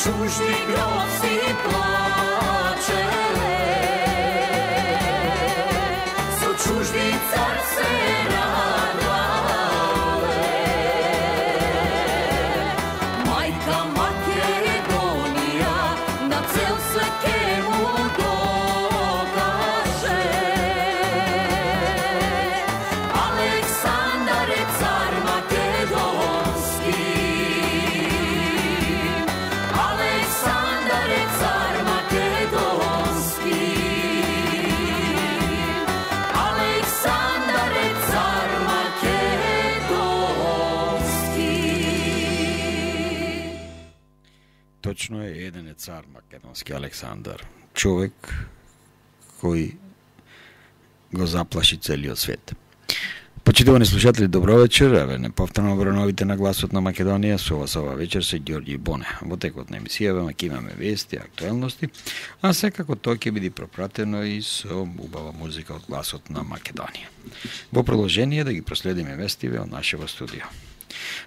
čužni grosi plače, su čužni car se radale. Majka Makedonija na cel svekemu dokaže. Aleksandar je car makedonski, Aleksandar je car makedonski, Aleksandar je car makedonski. Точно е, еден е цар македонски, Александар. Човек кој го заплаши целиот свет. Почитувани слушатели, добро вечер. Еве неповторно новите на гласот на Македонија. Со вас ова вечер се Ѓорѓи Боне. Во текот на емисијава ќе имаме вести, актуелности, а секако тоа ќе биде пропратено и со убава музика од гласот на Македонија. Во продолжение да ги проследиме вестиве од нашето студио.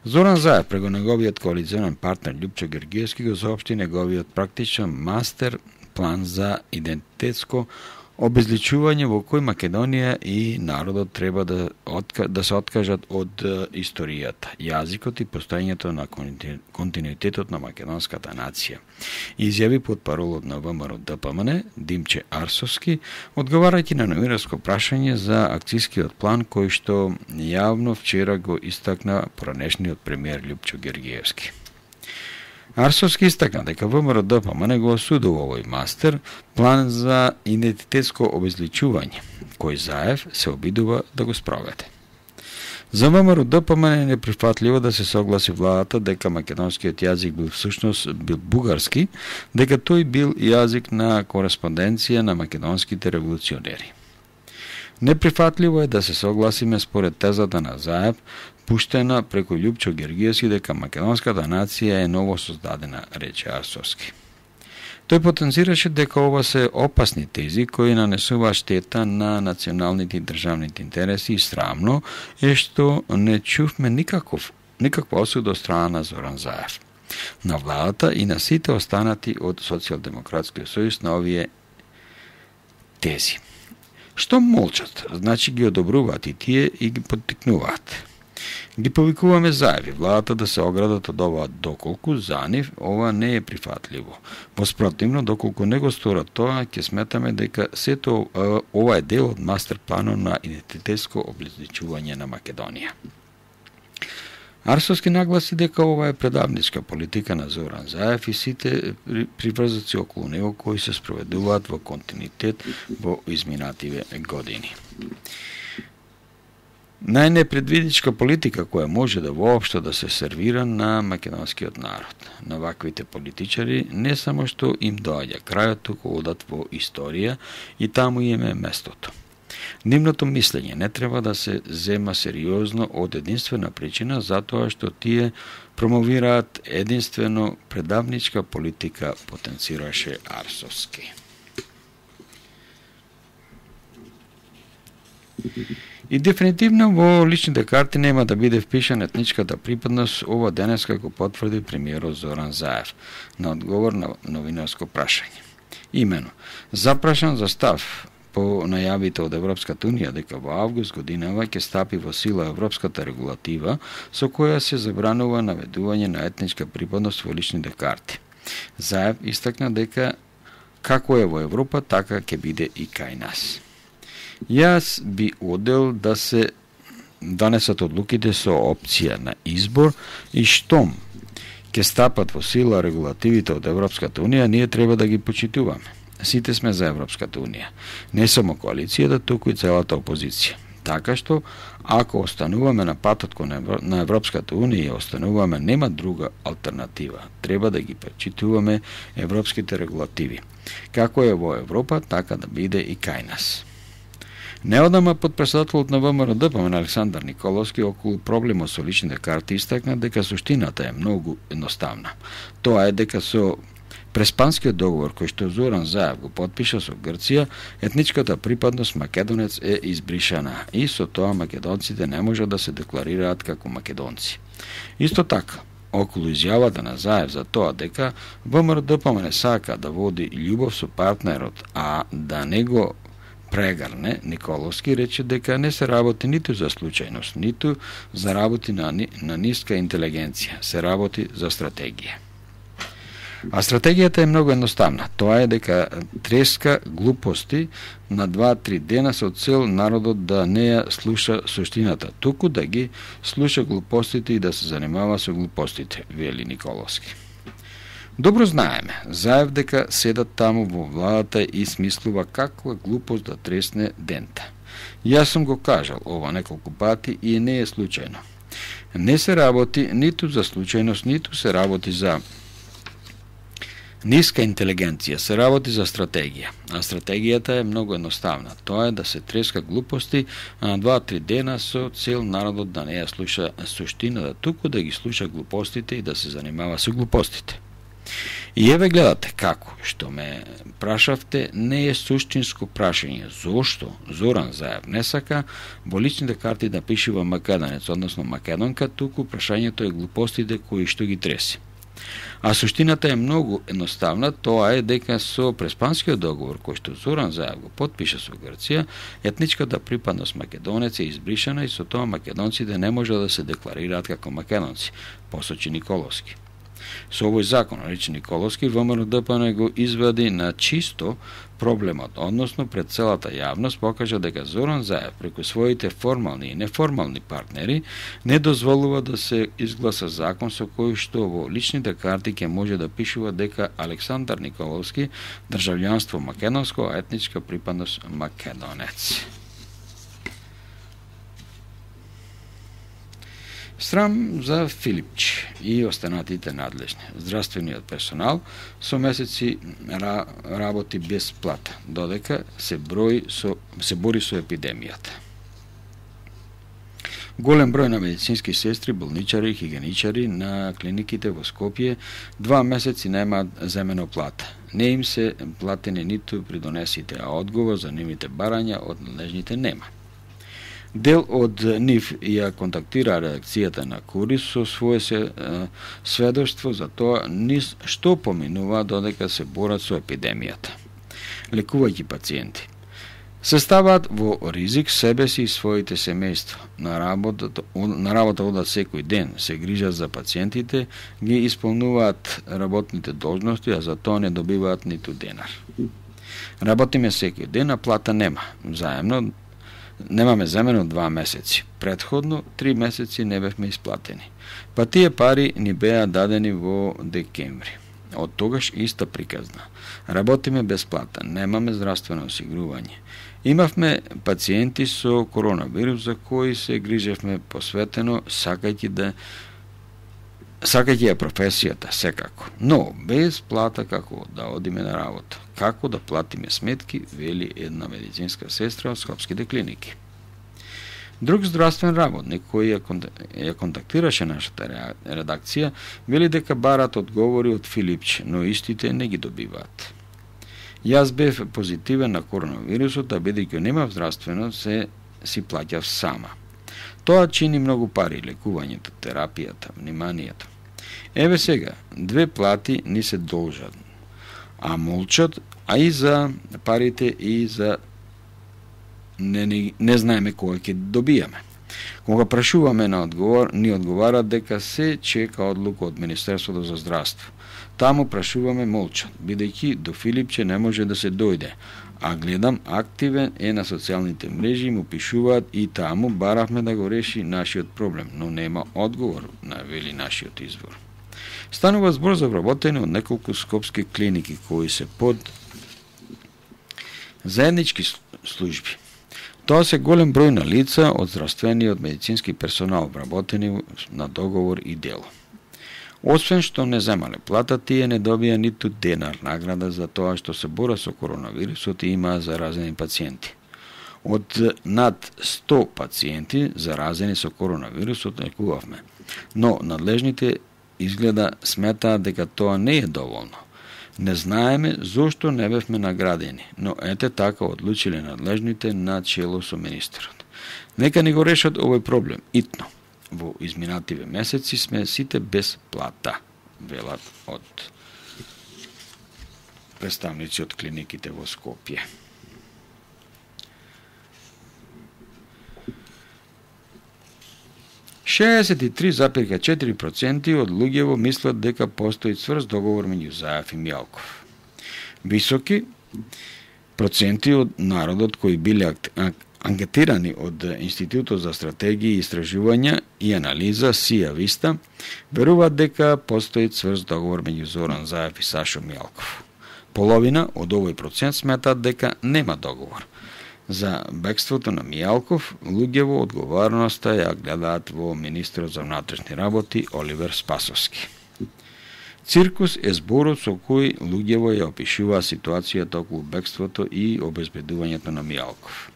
Зоран Заев, преку неговиот коалиционен партнер Љупчо Гергиевски, го соопшти неговиот практичен мастер план за идентитетско обезличување во кој Македонија и народот треба да се откажат од историјата, јазикот и постоењето на континуитетот на македонската нација. Изјави потпаролот на ВМРО-ДПМН Димче Арсовски, одговарајќи на новинарско прашање за акцијскиот план кој што јавно вчера го истакна поранешниот премиер Љупчо Гергиевски. Арсовски истакна дека ВМРО-ДПМН го осудува овој мастер план за идентитетско обезличување, кој Заев се обидува да го спроведе. За ВМРО-ДПМН е неприфатливо да се согласи владата дека македонскиот јазик бил всушност бугарски, дека тој бил јазик на кореспонденција на македонските револуционери. Неприфатливо е да се согласиме според тезата на Заев, пуштена преку Љупчо Гергиевски, дека македонската нација е ново создадена, рече Арсовски. Тој потенцираше дека ова се опасни тези кои нанесуваат штета на националните и државните интереси и срамно е што не чувме никаква осуда од страна на Зоран Заев, на владата и на сите останати од Социјалдемократскиот сојуз на овие тези. Што молчат, значи ги одобруваат и тие и ги поттикнуваат. Ги повикуваме Заев и владата да се оградат од ова доколку за нив ова не е прифатливо. Воспротивно, доколку не го сторат тоа, ќе сметаме дека сето ова е дел од мастер планот на идентитетско обличување на Македонија. Арсовски нагласи дека ова е предавничка политика на Зоран Заев и сите приврзаци околу него кои се спроведуваат во континуитет во изминативе години. Најнепредвидичка политика која може да воопшто да се сервира на македонскиот народ. На ваквите политичари не само што им доаѓа крајот, туку одат во историја и таму им е местото. Нивното мислење не треба да се зема сериозно од единствена причина затоа што тие промовираат единствено предавничка политика, потенцираше Арсовски. И дефинитивно во личните карти нема да биде впишана етничката припадност, ова денеска го потврди премиерот Зоран Заев на одговор на новинарско прашање. Имено, запрашан за став по најавите од Европската унија дека во август годинава ќе стапи во сила европската регулатива со која се забранува наведување на етничка припадност во личните карти. Заев истакна дека како е во Европа, така ќе биде и кај нас. Јас би одел да се донесат одлуките со опција на избор и штом ќе стапат во сила регулативите од Европската унија, ние треба да ги почитуваме. Сите сме за Европската унија, не само коалицијата, туку и целата опозиција. Така што, ако остануваме на патот на Европската унија и остануваме, нема друга алтернатива. Треба да ги почитуваме европските регулативи. Како е во Европа, така да биде и кај нас. Неодама подпредседателот на ВМРО-ДПМН Александар Николовски околу проблемот со личните карти истакна дека суштината е многу едноставна. Тоа е дека со преспанскиот договор кој што Зоран Заев го потпиша со Грција, етничката припадност македонец е избришана и со тоа македонците не можат да се декларираат како македонци. Исто така, околу изјавата на Заев за тоа дека ВМРО-ДПМН сака да води љубов со партнерот, а да не го прегарне, Николовски рече дека не се работи ниту за случајност, ниту за работи на ниска интелигенција, се работи за стратегија. А стратегијата е многу едноставна. Тоа е дека треска глупости на 2-3 дена со цел народот да не ја слуша суштината, туку да ги слуша глупостите и да се занимава со глупостите, вели Николовски. Добро знаеме, Заев дека седат таму во владата и смислува каква глупост да тресне дента. Јас сум го кажал ова неколку пати и не е случајно. Не се работи ниту за случајност, ниту се работи за ниска интелигенција, се работи за стратегија. А стратегијата е многу едноставна. Тоа е да се треска глупости на 2-3 дена со цел народот да не ја слуша суштината, туку да ги слуша глупостите и да се занимава со глупостите. И еве гледате како, што ме прашавте, не е суштинско прашање. Зошто Зоран Заев не сака во личните карти да пишува македонец, односно македонка, туку прашањето е глупостите кои што ги треси. А суштината е многу едноставна, тоа е дека со Преспанскиот договор кој што Зоран Заев го потпиша со Грција, етничката припадност македонец е избришана и со тоа македонците не може да се декларираат како македонци, посочи Николовски. Со овој закон, рече Николовски, ВМРО-ДПМН го извади на чисто проблемот, односно пред целата јавност покажа дека Зоран Заев преку своите формални и неформални партнери не дозволува да се изгласа закон со кој што во личните карти ќе може да пишува дека Александар Николовски државјанство македонско, а етничка припадност македонец. Срам за Филипч и останатите надлежни. Здравствениот персонал со месеци работи без плата, додека се бори со епидемијата. Голем број на медицински сестри, болничари и хигиеничари на клиниките во Скопје 2 месеци немаат земено плата. Не им се платени ниту придонесите, а одговор за нивните барања од надлежните нема. Дел од нив ја контактира редакцијата на Курис со свое сведоштво за тоа низ што поминува додека се борат со епидемијата. Лекувајќи пациенти се ставаат во ризик себе си и своите семејства. На работа одат секој ден, се грижат за пациентите, ги исполнуваат работните должности, а за тоа не добиваат ниту денар. Работиме секој ден, а плата нема. Заемно немаме земено 2 месеци. Претходно 3 месеци не бевме исплатени. Па тие пари ни беа дадени во декември. Од тогаш иста приказна. Работиме без плата, немаме здравствено осигурување. Имавме пациенти со коронавирус за кои се грижевме посветено, сакајќи ја професијата секако, но без плата како да одиме на работа, како да платиме сметки, вели една медицинска сестра од скопските клиники. Друг здравствен работник кој ја контактираше нашата редакција, вели дека барат одговори од Филипч, но истите не ги добиваат. Јас бев позитивен на коронавирусот, а бидејќи немав здравствено, си плаќав сама. Тоа чини многу пари, лекувањето, терапијата, вниманието. Еве сега, 2 плати ни се должат, а молчат, а и за парите и за не знаеме кој ќе добијаме. Кога прашуваме на одговор, ни одговарат дека се чека одлука од Министерството за здравство. Таму прашуваме молчат, бидејќи до Филипче не може да се дојде, а гледам активен е на социјалните мрежи, му пишуваат и таму баравме да го реши нашиот проблем, но нема одговор, навели нашиот извор. Станува збор за вработење од неколку скопски клиники кои се под заеднички служби. Тоа се голем број на лица од здравствениот медицински персонал вработени на договор и дело. Освен што не земале плата, тие не добија ниту денар награда за тоа што се бора со коронавирусот и имаа заразени пациенти. Од над 100 пациенти заразени со коронавирусот лекувавме, но надлежните изгледа сметаат дека тоа не е доволно. Не знаеме зошто не бевме наградени, но ете така одлучиле надлежните на чело со министерот. Нека ни го решат овој проблем итно. во изминативе месеци сме сите без плата, велат од представници од клиниките во Скопје. ,4% од луѓево мислат дека постои цврст договор меѓу Заев и Мијалков. Високи проценти од народот кои биле анкетирани од Институтот за стратегии и истражувања и анализа Сија Виста веруваат дека постои цврст договор меѓу Зоран Заев и Сашо Мијалков. Половина од овој процент сметаат дека нема договор. За бегството на Мијалков, луѓево одговорноста ја гледаат во министрот за внатрешни работи Оливер Спасовски. Циркус е зборот со кој луѓево ја опишува ситуацијата околу бегството и обезбедувањето на Мијалков.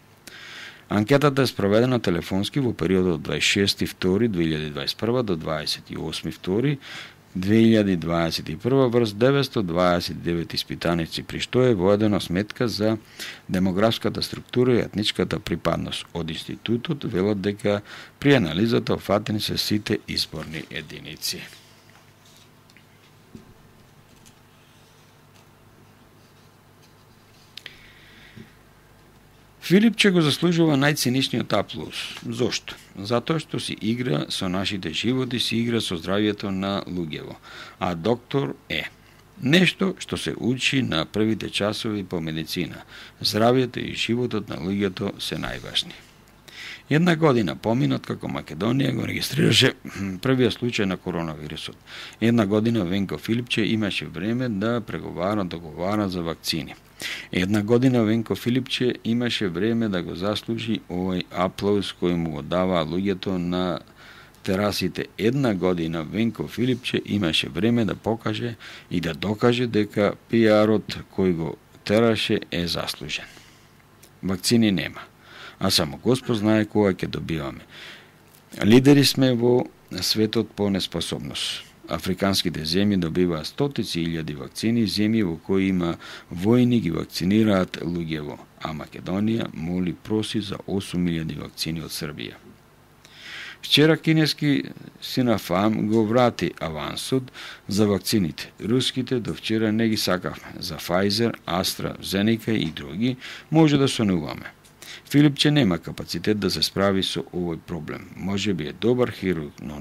Анкетата е спроведена телефонски во периодот 26.2.2021 до 28.2.2021 врз 929 испитаници, при што е водена сметка за демографската структура и етничката припадност. Од институтот велат дека при анализата офатени се сите изборни единици. Филипче го заслужува најциничниот аплауз. Зошто? Затоа што си игра со нашите животи, си игра со здравието на луѓево. А доктор е нешто што се учи на првите часови по медицина. Здравието и животот на луѓето се најважни. Една година поминат како Македонија го регистрираше првиот случај на коронавирусот. Една година Венко Филипче имаше време да договара за вакцини. Една година Венко Филипче имаше време да го заслужи овој аплауз кој му го дава луѓето на терасите. Една година Венко Филипче имаше време да покаже и да докаже дека пиарот кој го тераше е заслужен. Вакцини нема, а само Господ знае кога ќе добиваме. Лидери сме во светот по неспособност. Африканските земји добиваат стотици илјади вакцини, земји во кои има војни ги вакцинираат луѓево, а Македонија моли проси за 8.000 вакцини од Србија. Вчера кинески Синофарм го врати авансот за вакцините. Руските до вчера не ги сакавме. За Pfizer, AstraZeneca и други може да сонуваме. Филипче нема капацитет да се справи со овој проблем. Може би е добар хирург, но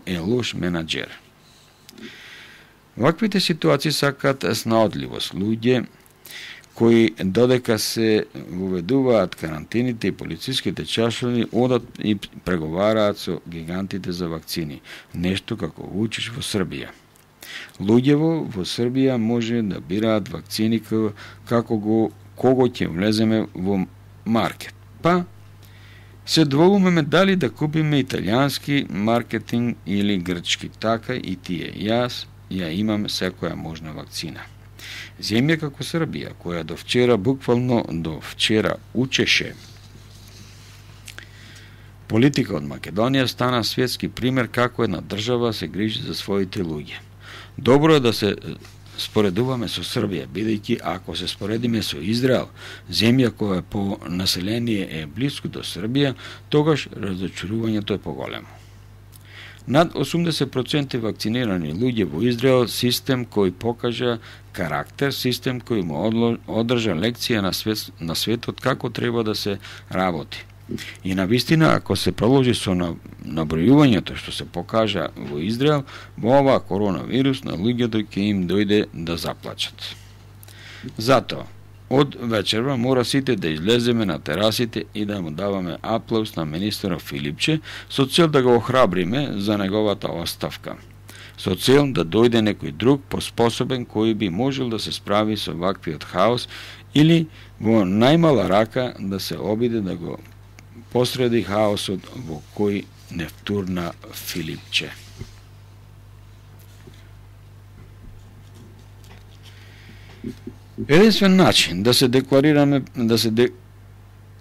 е лош менаџер. Ваквите ситуации сакаат снаодливост. Луѓе кои додека се воведуваат карантините и полициските чашови, одат и преговараат со гигантите за вакцини. Нешто како Вучич во Србија. Луѓево во Србија може да бираат вакцини кого ќе влеземе во маркет. Па се двоумеме дали да купиме италијански маркетинг или грчки. Така и тие. Јас ја имам секоја можна вакцина. Земја како Србија, која буквално до вчера учеше политика од Македонија, стана светски пример како една држава се грижи за своите луѓе. Добро е да се споредуваме со Србија, бидејќи ако се споредиме со Израел, земја која по население е близко до Србија, тогаш разочарувањето е поголемо. Над 80% вакцинирани луѓе во Израел, систем кој покажа карактер, систем кој му одржа лекција на светот како треба да се работи. И навистина, ако се проложи со набројувањето што се покажа во Израел, во оваа коронавирус на луѓето ќе им дојде да заплачат. Затоа, од вечерва мора сите да излеземе на терасите и да му даваме аплауз на министерот Филипче со цел да го охрабриме за неговата оставка. Со цел да дојде некој друг поспособен кој би можел да се справи со ваквиот хаос или во најмала рака да се обиде да го посреди хаосот во кој не втурна Филипче. Единствен начин да се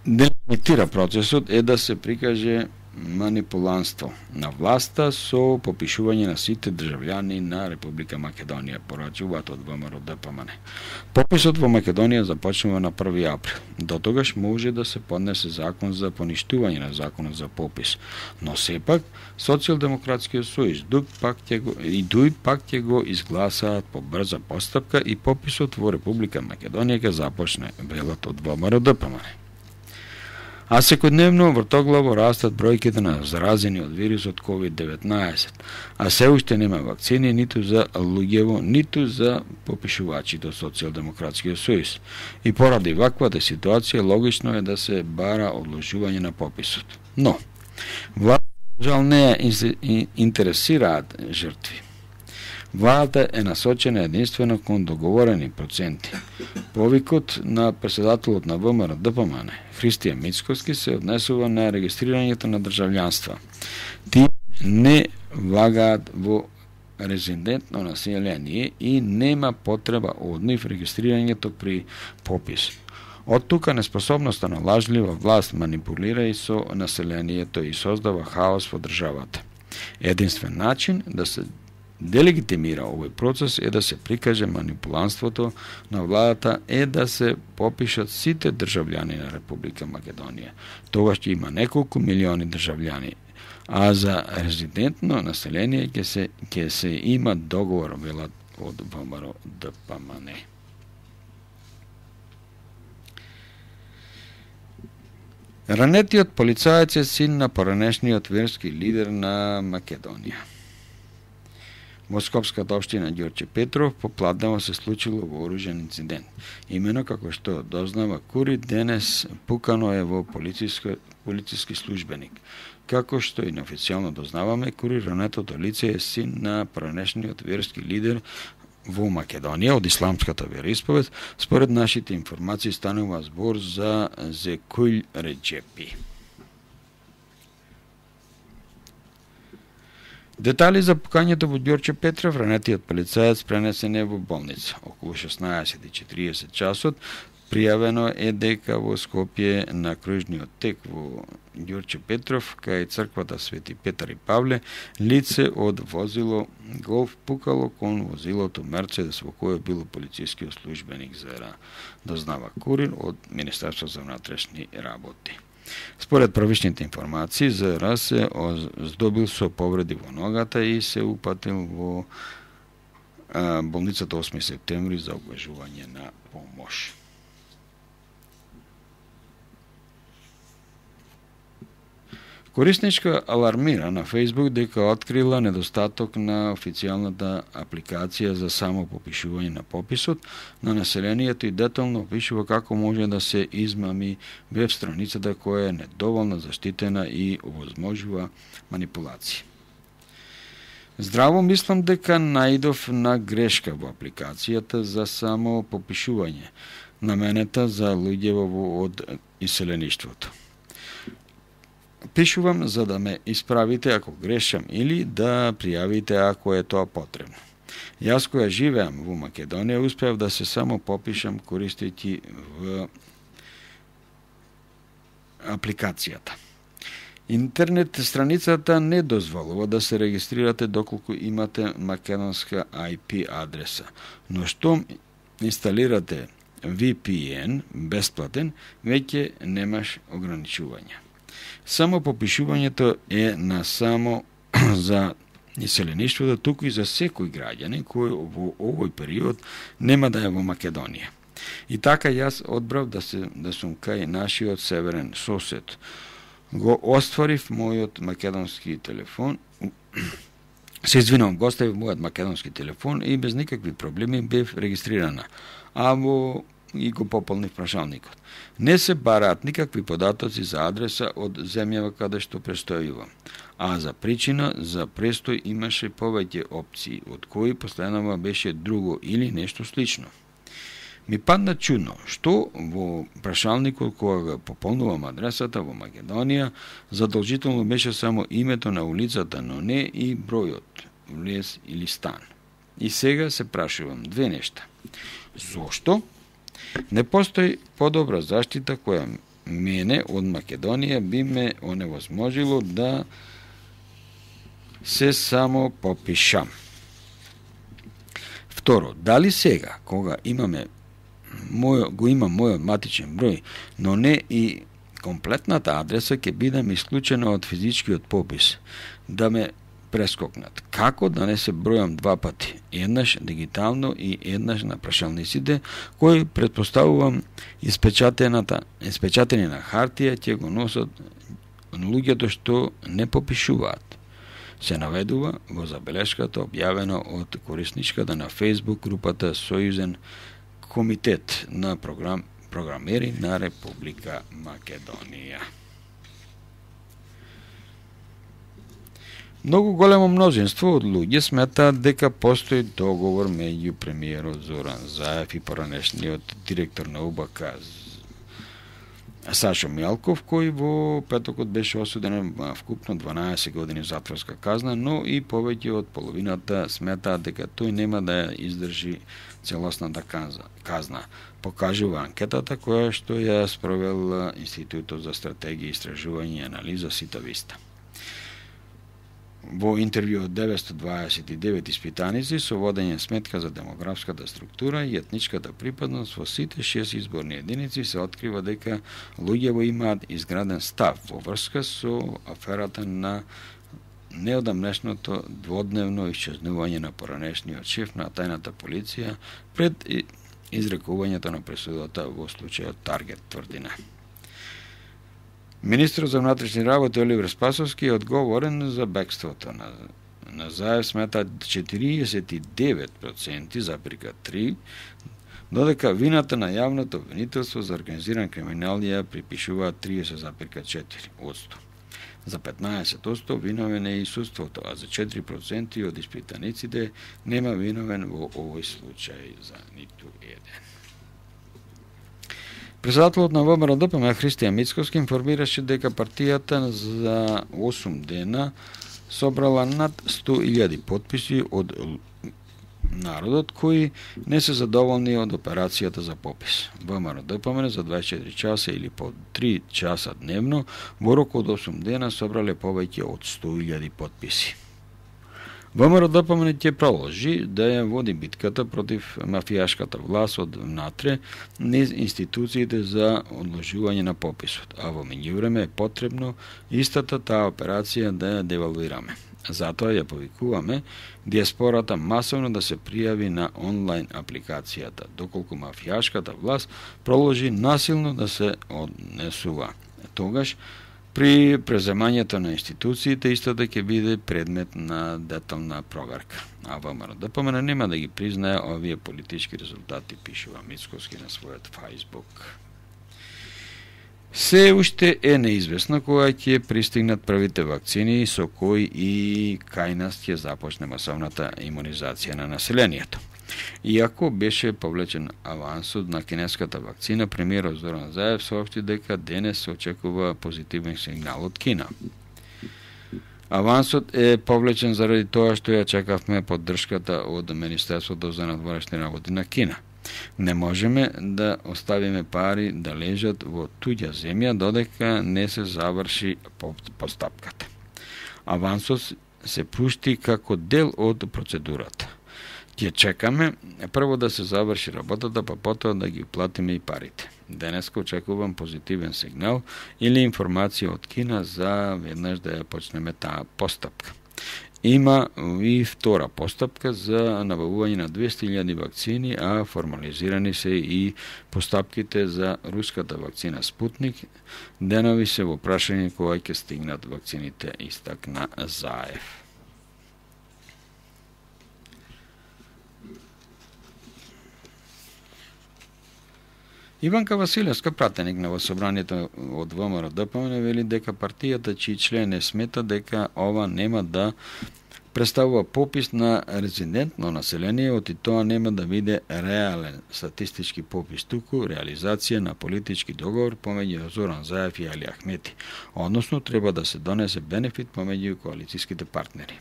делимитира процесот е да се прикаже манипуланство на власта со попишување на сите државјани на Република Македонија, порачуваат од ВМРО ДПМН. Пописот во Македонија започнува на 1 април. До тогаш може да се поднесе закон за поништување на законот за попис, но сепак Социјалдемократскиот сојуз ДУИ пак ќе го изгласаат по брза постапка и пописот во Република Македонија ќе започне, велат од ВМРО ДПМН. А секојдневно вртоглаво растат бројките на заразени од вирусот COVID-19, а се уште нема вакцини ниту за луѓево, ниту за попишувачите од Социјалдемократскиот сојуз. И поради ваквата ситуација логично е да се бара одложување на пописот. Но, владата жал не интересираат жртви. Владата е насочена единствено кон договорени проценти. Повикот на председателот на ВМРО ДПМН, Христијан Мицкоски, се однесува на регистрирањето на државјанства. Тие не влагаат во резидентно население и нема потреба од нив регистрирањето при попис. Од тука неспособноста на лажлива власт манипулира и со населението и создава хаос во државата. Единствен начин да се делегитимира овој процес е да се прикаже манипуланството на владата е да се попишат сите државјани на Република Македонија. Тогаш ќе има неколку милиони државјани, а за резидентно население ќе се има договор, велат од ВМРО ДПМН. Ранетиот полицаец е син на поранешниот верски лидер на Македонија. Во Скопската општина Ѓорче Петров попладнево се случило вооружен инцидент. Имено како што дознава Кури, денес пукано е во полициски службеник. Како што и неофицијално дознаваме, Кури, ранетото лице е син на поранешниот верски лидер во Македонија од исламската вероисповед. Според нашите информации станува збор за Зекујл Реджепи. Детали за пукањето во Ѓорче Петров, ранетиот полицаец пренесен е во болница. Околу 16:40 часот пријавено е дека во Скопје на кружниот тек во Ѓорче Петров, кај црквата Свети Петар и Павле, лице од возило Голф пукало кон возилото Мерцедес во кое било полицискиот службеник ЗРА, дознава Курир од Министерство за внатрешни работи. Според првичните информации, ЗРА се здобил со повреди во ногата и се упатил во болницата 8 септември за окажување на помош. Корисничка алармира на Facebook дека открила недостаток на официјалната апликација за само попишување на пописот на населението и детално опишува како може да се измами веб страницата која е недоволно заштитена и овозможува манипулации. Здраво мислам дека наидов на грешка во апликацијата за само попишување, наменета за луѓево од иселеништвото. Пишувам за да ме исправите ако грешам или да пријавите ако е тоа потребно. Јас која живеам во Македонија успеав да се само попишам користејќи в апликацијата. Интернет страницата не дозволува да се регистрирате доколку имате македонска IP адреса, но што инсталирате VPN бесплатен, веќе немаш ограничувања. Само попишувањето е на само за иселеништвото, туку и за секој граѓанин кој во овој период нема да е во Македонија. И така јас одбрав да сум кај нашиот северен сосед. Го остварив мојот македонски телефон, се извинувам, го оставив мојот македонски телефон и без никакви проблеми бев регистрирана. И го пополнив прашалникот. Не се бараат никакви податоци за адреса од земјава каде што престојувам, а за причина за престој имаше повеќе опции, од кои последнава беше друго или нешто слично. Ми падна чудно, што во прашалникот кога го пополнувам адресата во Македонија, задолжително беше само името на улицата, но не и бројот, влез или стан. И сега се прашувам две нешта. Зошто? Не постои подобра заштита која мене од Македонија би ме оневозможило да се само попишам. Второ, дали сега, кога имам мојот матичен број, но не и комплетната адреса, ќе бидам исклучена од физичкиот попис, да ме прескокнат. Како да не се бројам два пати, еднаш дигитално и еднаш на прашалниците, кои предпоставувам испечатени на хартија ќе го носат луѓето што не попишуваат. Се наведува во забелешката објавена од корисничката на Facebook групата Сојузен комитет на програмери на Република Македонија. Многу големо мнозинство од луѓе сметаат дека постои договор меѓу премиерот Зоран Заев и поранешниот директор на УБК Сашо Мјалков, кој во петокот беше осуден вкупно 12 години затворска казна, но и повеќе од половината сметаат дека тој нема да ја издржи целосната казна, покажува анкетата која што ја спровел Институтот за стратегија, истражување и анализа Ситависта. Во интервју од 929 испитаници со водење сметка за демографската структура и етничката припадност во сите 6 изборни единици се открива дека луѓето имаат изграден став во врска со аферата на неодамнешното дводневно исчезнување на поранешниот шеф на тајната полиција пред изрекувањето на пресудата во случајот Таргет, тврдина. Министрот за внатрешни работи Оливер Спасовски е одговорен за бегството на Заев, смета 49,3%, додека вината на јавното обвинителство за организиран криминал ја припишува 30,4%. За 15% виновен е и судството, а за 4% од испитаниците нема виновен во овој случај за ниту еден. Председателот на ВМРО-ДПМ Христијан Мицковски информираше дека партијата за 8 дена собрала над 100.000 потписи од народот кои не се задоволни од операцијата за попис. ВМРО-ДПМ за 24 часа или по 3 часа дневно во рок од 8 дена собрале повеќе од 100.000 потписи. ВМРО-ДПМ ќе продолжи да ја води битката против мафијашката власт од внатре низ институциите за одложување на пописот, а во меѓувреме е потребно истата таа операција да ја девалвираме. Затоа ја повикуваме диаспората масовно да се пријави на онлайн апликацијата, доколку мафијашката власт продолжи насилно да се однесува. Тогаш при преземањето на институциите истото ќе биде предмет на детална проверка. А ВМРО-ДПМ нема да ги признае овие политички резултати, пишува Мицковски на својот Facebook. Се уште е неизвестно кога ќе пристигнат првите вакцини со кои и кај нас ќе започне масовната имунизација на населението. Иако беше повлечен авансот на кинеската вакцина, премиерот Зоран Заев соопшти дека денес се очекува позитивен сигнал од Кина. Авансот е повлечен заради тоа што ја чекавме поддршката од Министерството за надворешни работи на Кина. Не можеме да оставиме пари да лежат во туѓа земја додека не се заврши постапката. Авансот се пушти како дел од процедурата. Ќе чекаме прво да се заврши работата, па потоа да ги платиме и парите. Денеска очекувам позитивен сигнал или информација од Кина за веднаш да ја почнеме таа постапка. Има и втора постапка за набавување на 200.000 вакцини, а формализирани се и постапките за руската вакцина Спутник. Денови се во прашање кога ќе стигнат вакцините, истакна Заев. Иванка Василевска, пратеник на собранието од ВМРО-ДПМ, вели дека партијата чии член не смета дека ова нема да представува попис на резидентно население, оти тоа нема да биде реален статистички попис, туку реализација на политички договор помеѓу Зоран Заев и Али Ахмети, односно треба да се донесе бенефит помеѓу коалицијските партнери.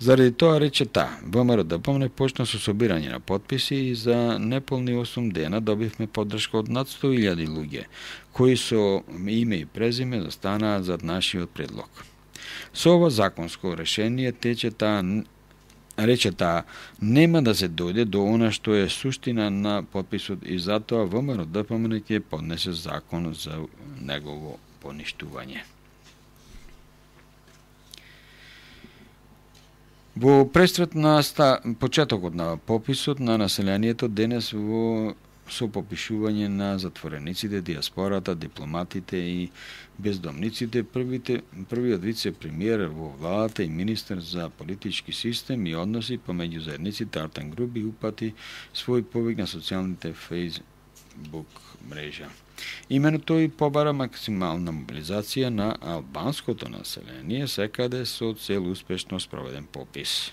Заради тоа, рече таа, ВМРО-ДПМН почна со собирање на потписи и за неполни 8 дена добивме поддршка од над 100.000 луѓе, кои со име и презиме застанаат зад нашиот предлог. Со ова законско решение рече таа, нема да се дојде до она што е суштина на потписот и затоа ВМРО-ДПМН ќе поднесе закон за негово поништување. Во престрет на почетокот на пописот на населението денес со попишување на затворениците, диаспората, дипломатите и бездомниците, првиот вице-премиер во владата и министер за политички систем и односи помеѓу заедниците Артан Груби упати свој повик на социјалните Facebook мрежа. Имено тој побара максимална мобилизација на албанското население секаде со цел успешно спроведен попис.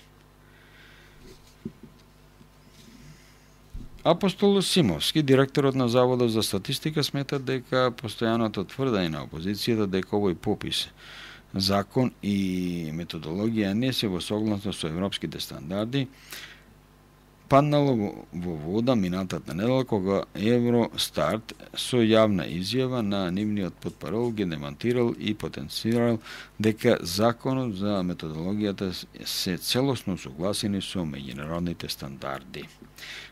Апостол Симовски, директорот на Заводот за статистика, смета дека постојаното тврдање на опозицијата дека овој попис, закон и методологија не се во согласност со европските стандарди, паднало во вода минатата недела кога Евростарт со јавна изјава на нивниот потпарол ги демантирал и потенцирал дека законот за методологијата се целосно согласени со меѓународните стандарди.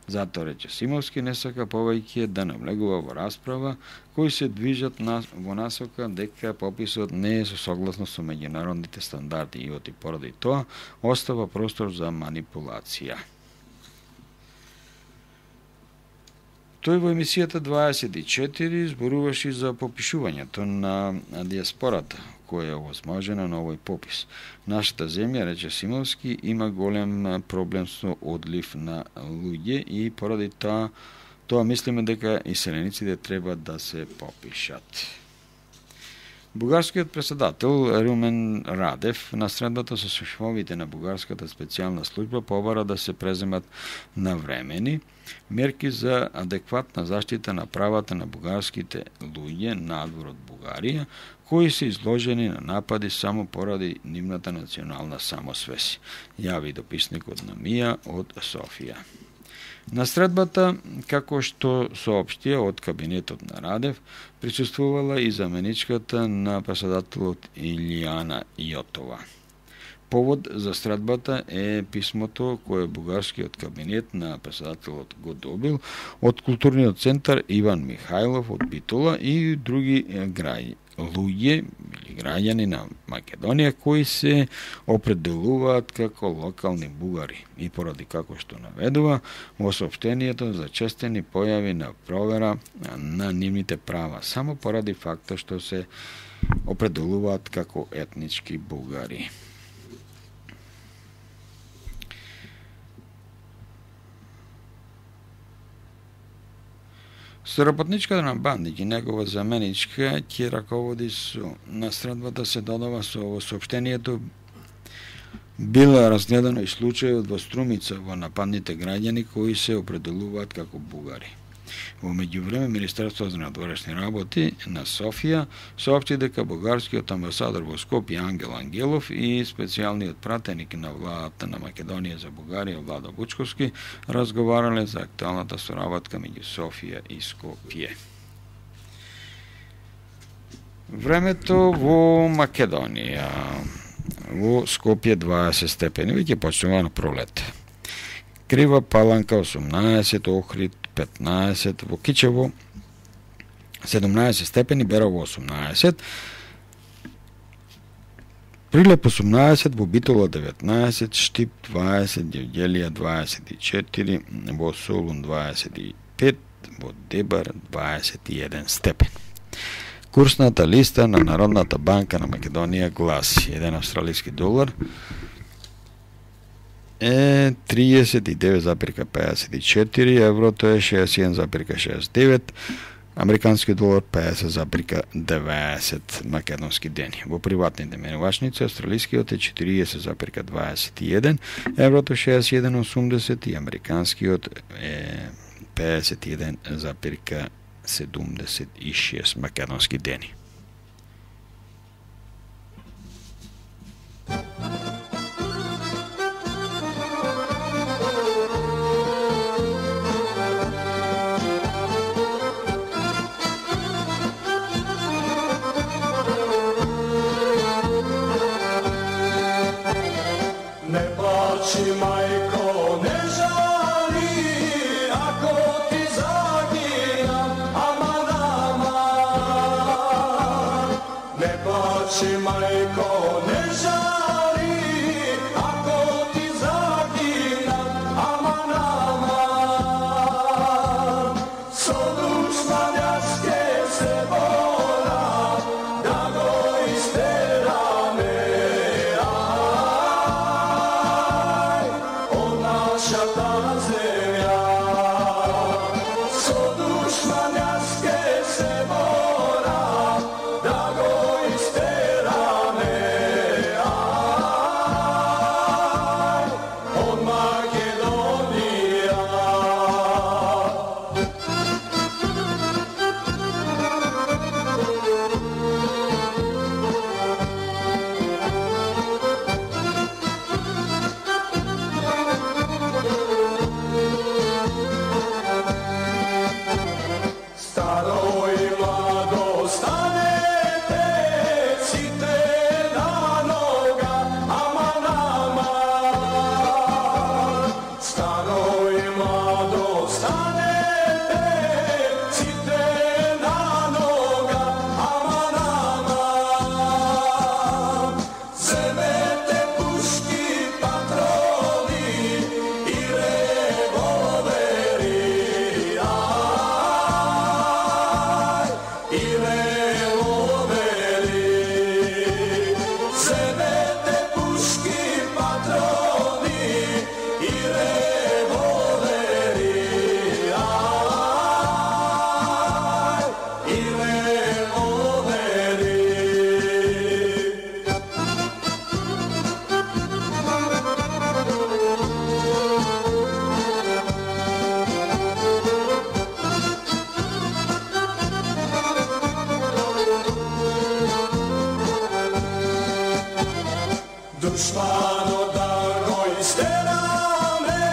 Затоа, рече Симовски, не сака повеќе да навлегува во расправа кои се движат во насока дека пописот не е со согласно со меѓународните стандарди и поради тоа остава простор за манипулација. Тој во емисијата 24 зборуваше за попишувањето на диаспората, која е овозможена на овој попис. Нашата земја, рече Симовски, има голем проблем со одлив на луѓе и поради тоа мислиме дека иселениците треба да се попишат. Бугарскиот председател Румен Радев на средбата со шефовите на бугарската специјална служба побара да се преземат навремени мерки за адекватна заштита на правата на бугарските луѓе надвор од Бугарија, кои се изложени на напади само поради нивната национална самосвест, јави дописникот на Мија од Софија. На средбата, како што соопштија од кабинетот на Радев, присуствувала и заменичката на председателот Илијана Јотова. Повод за средбата е писмото кое бугарскиот кабинет на председателот го добил од културниот центар Иван Михајлов од Битола и други луѓе или граѓани на Македонија кои се определуваат како локални бугари и поради како што наведува во соопштението за честени појави на провера на нивните права само поради факта што се определуваат како етнички бугари. Соработничката на Бандиќ и негова заменичка ќе раководи со настрадбата се додава со соопштението била разгледано и случајот во Струмица во нападните граѓани кои се определуваат како бугари. Во меѓувреме Министерството за надворешни работи на Софија соопшти дека бугарскиот амбасадор во Скопје Ангел Ангелов и специјалниот пратеник на владата на Македонија за Бугарија Владо Вучковски разговарале за актуелната соработка меѓу Софија и Скопје. Времето во Македонија. Во Скопје 20 степени, веќе почнува на пролет. Крива Паланка 18, Охрид 15, во Кичево 17 степени, Берово 18, Прилеп 18, во Битола 19, Штип 20, Ѓевѓелија 24, во Солун 25, во Дебар 21 степен. Курсната листа на Народната банка на Македонија гласи: еден австралиски долар е 39,54, еврото е 61,69, американски долар 50,90 македонски дени. Во приватните менувачници австралискиот е 40,21, еврото 61,80 и американскиот е 51,76 македонски дени. плаче, мајко, не жари, ако ти загинам, аман, аман. Со душман јас ке се борам, да го истераме, ај, од нашата земја. Со душман јас ке се борам, да го истераме, ај, од Македонија. Старо и младо станете, сите на нога, аман, аман. Старо и младо станете, сите на нога, аман, аман. Земете пушки, патрони и револвери, и револвери. Земете пушки, патрони и револвери, и револвери. Душмано да го истераме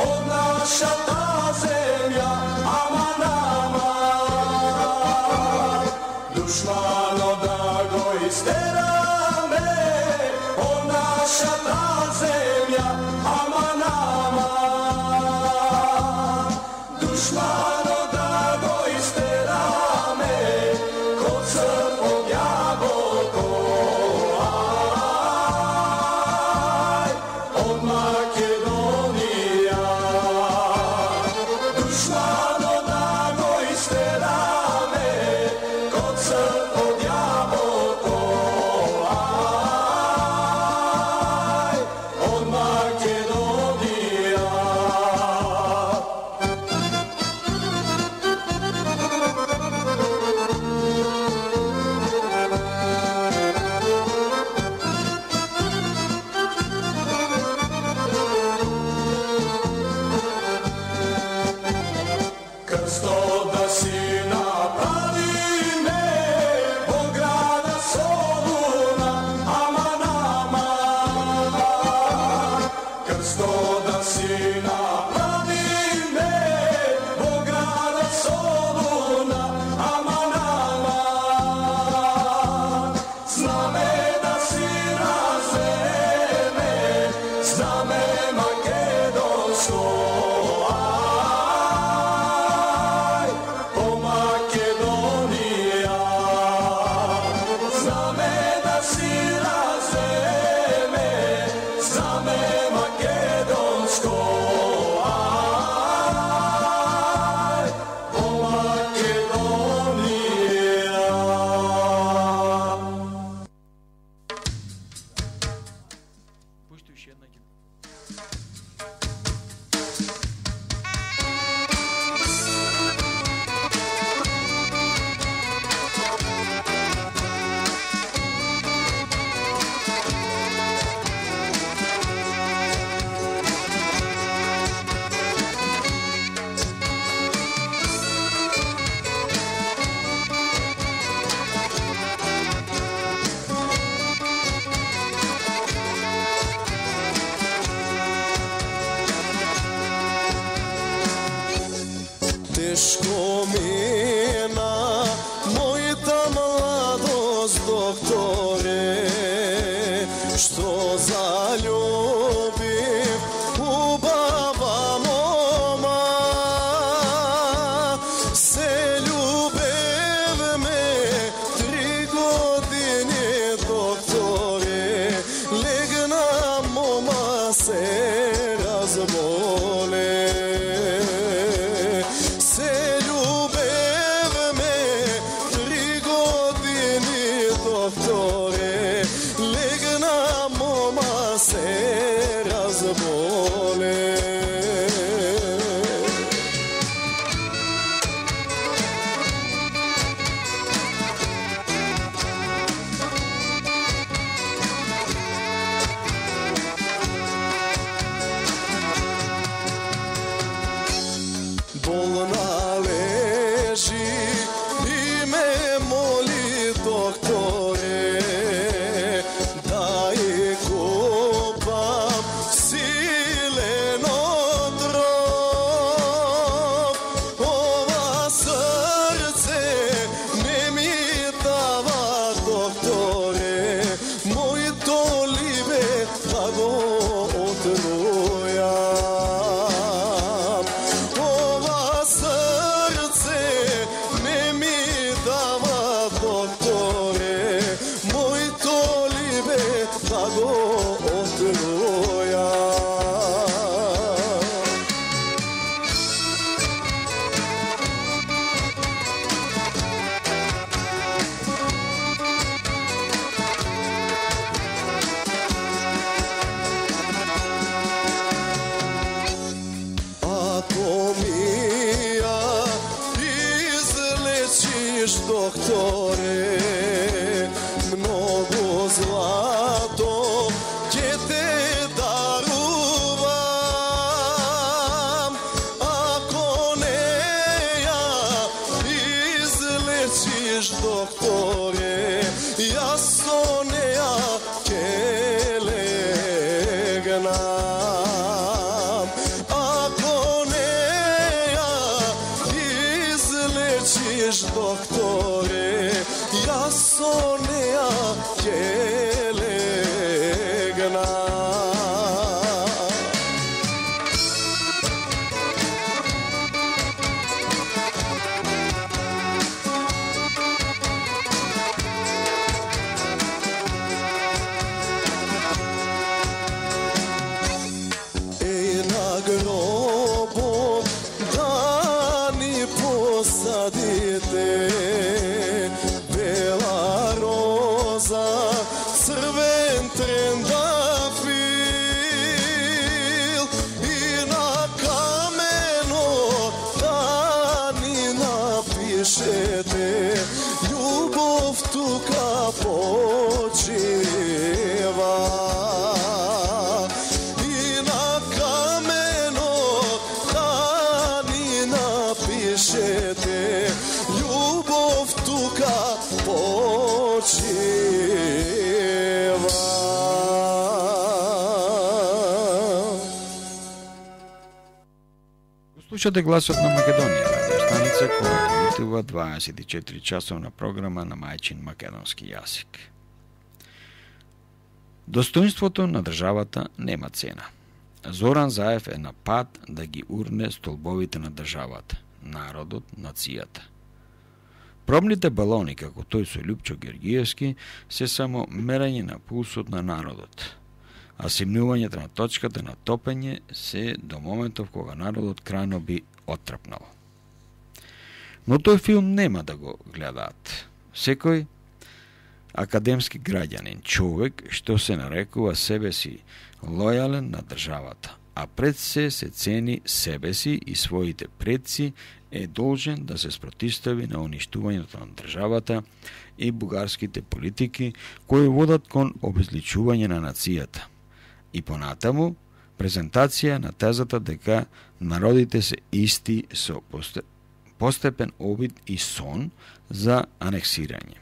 од нашата земја, аман, аман. Душмано да го истераме од нашата земја, аман, аман. Душмано да го истераме код српот јаболко, од Македонија. Душмано да го истераме код српот јаболко, од Македонија. Крсто да си направиме во града Солуна, аман, аман. Крсто да си направиме во града Солуна, аман, аман. Знаме да си развеме, знаме македонско, ај, по Македонија. Знаме да си развеме, знаме македонско, ај, по Македонија. Пушти уште една ќе. Тешко мина мојата младост, докторе, што залюбив убава мома. Се љубевме 3 години докторе, легна мома се разболе. Болна лежи и ме моли докторе, да ја копам силен отров. Ова срце не ми дава докторе, моето либе да го отрујам. Ова срце не ми дава докторе, моето либе да го отрујам. Ако ми ја излечиш, докторе, многу злато ќе те дарувам. Ако не ја излечиш, докторе, јас со неа ќе легнам. Ако не ја излечиш, докторе, јас со неа ќе легнам. Еј, на гробот да ни посадите бела роза, црвен трендафил, и на каменот да ни напишете љубов тука почива. И на каменот да ни напишете љубов тука почива. Слушате гласот на Македонија, радио станица која емитува 24 часовна програма на мајчин македонски јазик. Достоинството на државата нема цена. Зоран Заев е на пат да ги урне столбовите на државата, народот, нацијата. Пробните балони, како тој со Љупчо Георгиевски, се само мерање на пулсот на народот, а симнувањето на точката на топење се до моментов кога народот крајно би оттрапнал. Но тој филм нема да го гледаат. Секој академски граѓанин, човек што се нарекува себе си лојален на државата, а пред се цени себе си и своите предци, е должен да се спротистави на уништувањето на државата и бугарските политики кои водат кон обезличување на нацијата. И понатаму, презентација на тезата дека народите се исти со постепен обид и сон за анексирање.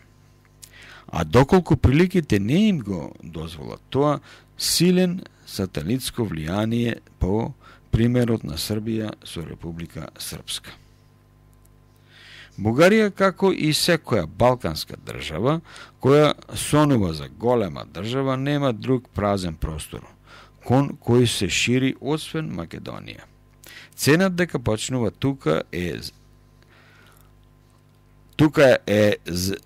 А доколку приликите не им го дозволат тоа, силен сателитско влијание по примерот на Србија со Република Српска. Бугарија, како и секоја балканска држава, која сонува за голема држава, нема друг празен простор, кон кој се шири освен Македонија. Ценат дека почнува тука е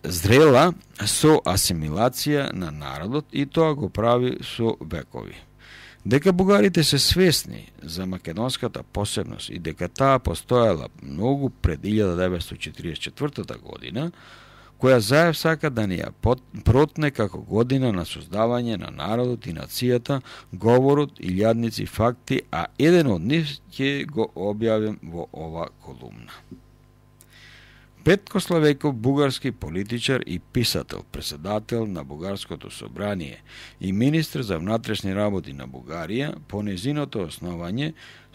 зрела со асимилација на народот и тоа го прави со векови. Дека бугарите се свесни за македонската посебност и дека таа постоела многу пред 1944 година, која заев сака да ни ја протне како година на создавање на народот и нацијата, говорот, илјадници факти, а еден од нив ќе го објавим во ова колумна. Петко Славејков, бугарски политичар и писател, председател на Бугарското собрание и министр за внатрешни работи на Бугарија, по незиното основање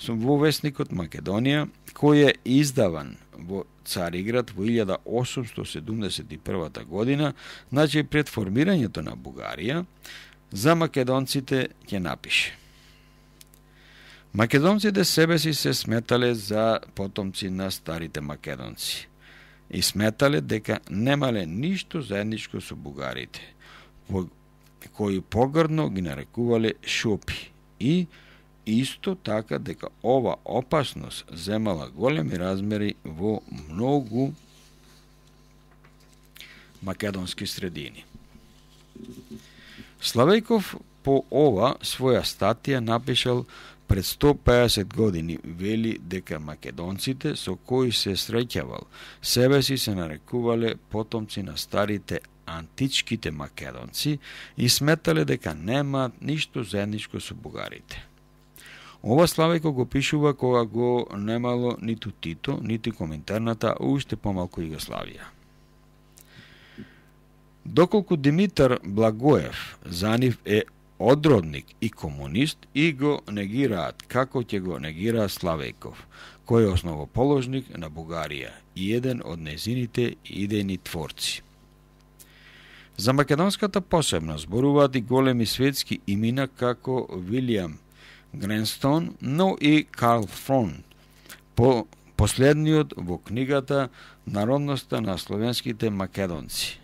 во весникот Македонија, кој е издаван во Цариград во 1871 година, значи пред формирањето на Бугарија, за македонците ќе напише: Македонците себе си се сметале за потомци на старите македонци и сметале дека немале ништо заедничко со бугарите, кои погрдно ги нарекувале шопи, и исто така дека ова опасност земала големи размери во многу македонски средини. Славејков по ова своја статија напишал пред 150 години, вели дека македонците со кои се среќавал себе си се нарекувале потомци на старите античките македонци и сметале дека немаат ништо заедничко со бугарите. Ова Славејко го пишува кога го немало ниту Тито, ниту Коминтерната, уште помалку Југославија. Доколку Димитар Благоев за нив е одродник и комунист, и го негираат како ќе го негира Славејков, кој е основоположник на Бугарија и еден од незините идејни творци. За македонската посебност зборуваат и големи светски имена како Вилијам Гренстон, но и Карл Фрон, последниот во книгата Народноста на словенските македонци.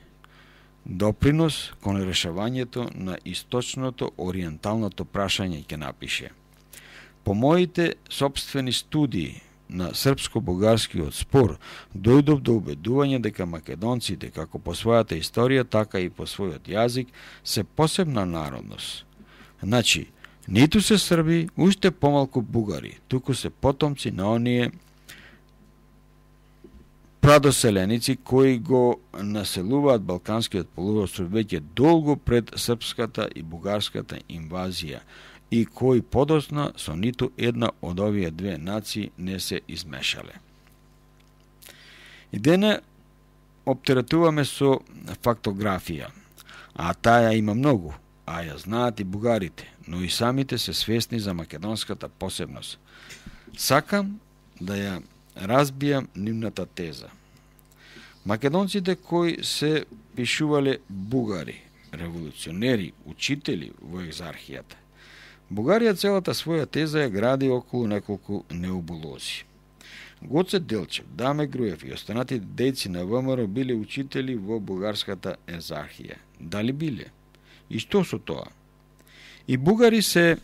Допринос кон решавањето на источното ориенталното прашање ќе напише: По моите собствени студии на српско-бугарскиот спор дојдов до убедување дека македонците, како по својата историја, така и по својот јазик, се посебна народност. Значи, ниту се срби, уште помалку бугари, туку се потомци на оние прадоселеници кои го населуваат Балканскиот полуостров веќе долго пред српската и бугарската инвазија и кои подосна со ниту една од овие две нации не се измешале. И дене оптеретуваме со фактографија, а таја има многу, а ја знаат и бугарите, но и самите се свесни за македонската посебност. Сакам да ја разбијам нивната теза. Македонците кои се пишувале бугари, револуционери, учители во екзархијата. Бугарија целата своја теза ја гради околу неколку неубулози. Гоце Делчев, Даме Груев и останатите дејци на ВМРО биле учители во бугарската екзархија. Дали биле? И што со тоа? И бугари се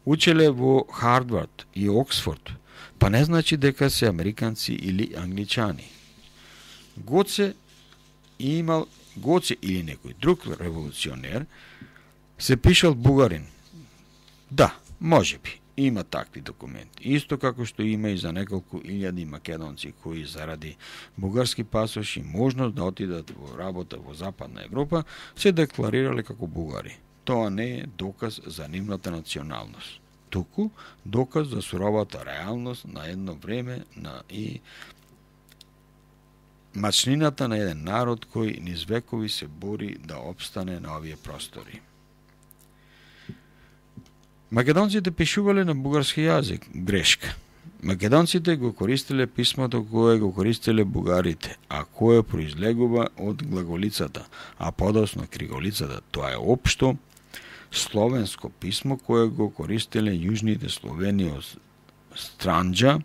учеле во Харвард и Оксфорд, па не значи дека се американци или англичани. Гоце или некој друг револуционер се пишал бугарин. Да, можеби, има такви документи. Исто како што има и за неколку илјади македонци кои заради бугарски пасош и можност да отидат во работа во Западна Европа се декларирале како бугари. Тоа не е доказ за нивната националност, туку доказ за суровата реалност на едно време и мачнината на еден народ кој низ векови се бори да опстане на овие простори. Македонците пишувале на бугарски јазик, грешка. Македонците го користеле писмото кое го користеле бугарите, а кое произлегува од глаголицата, а подосно криголицата. Тоа е општо словенско писмо кое го користеле јужните Словени од Странџа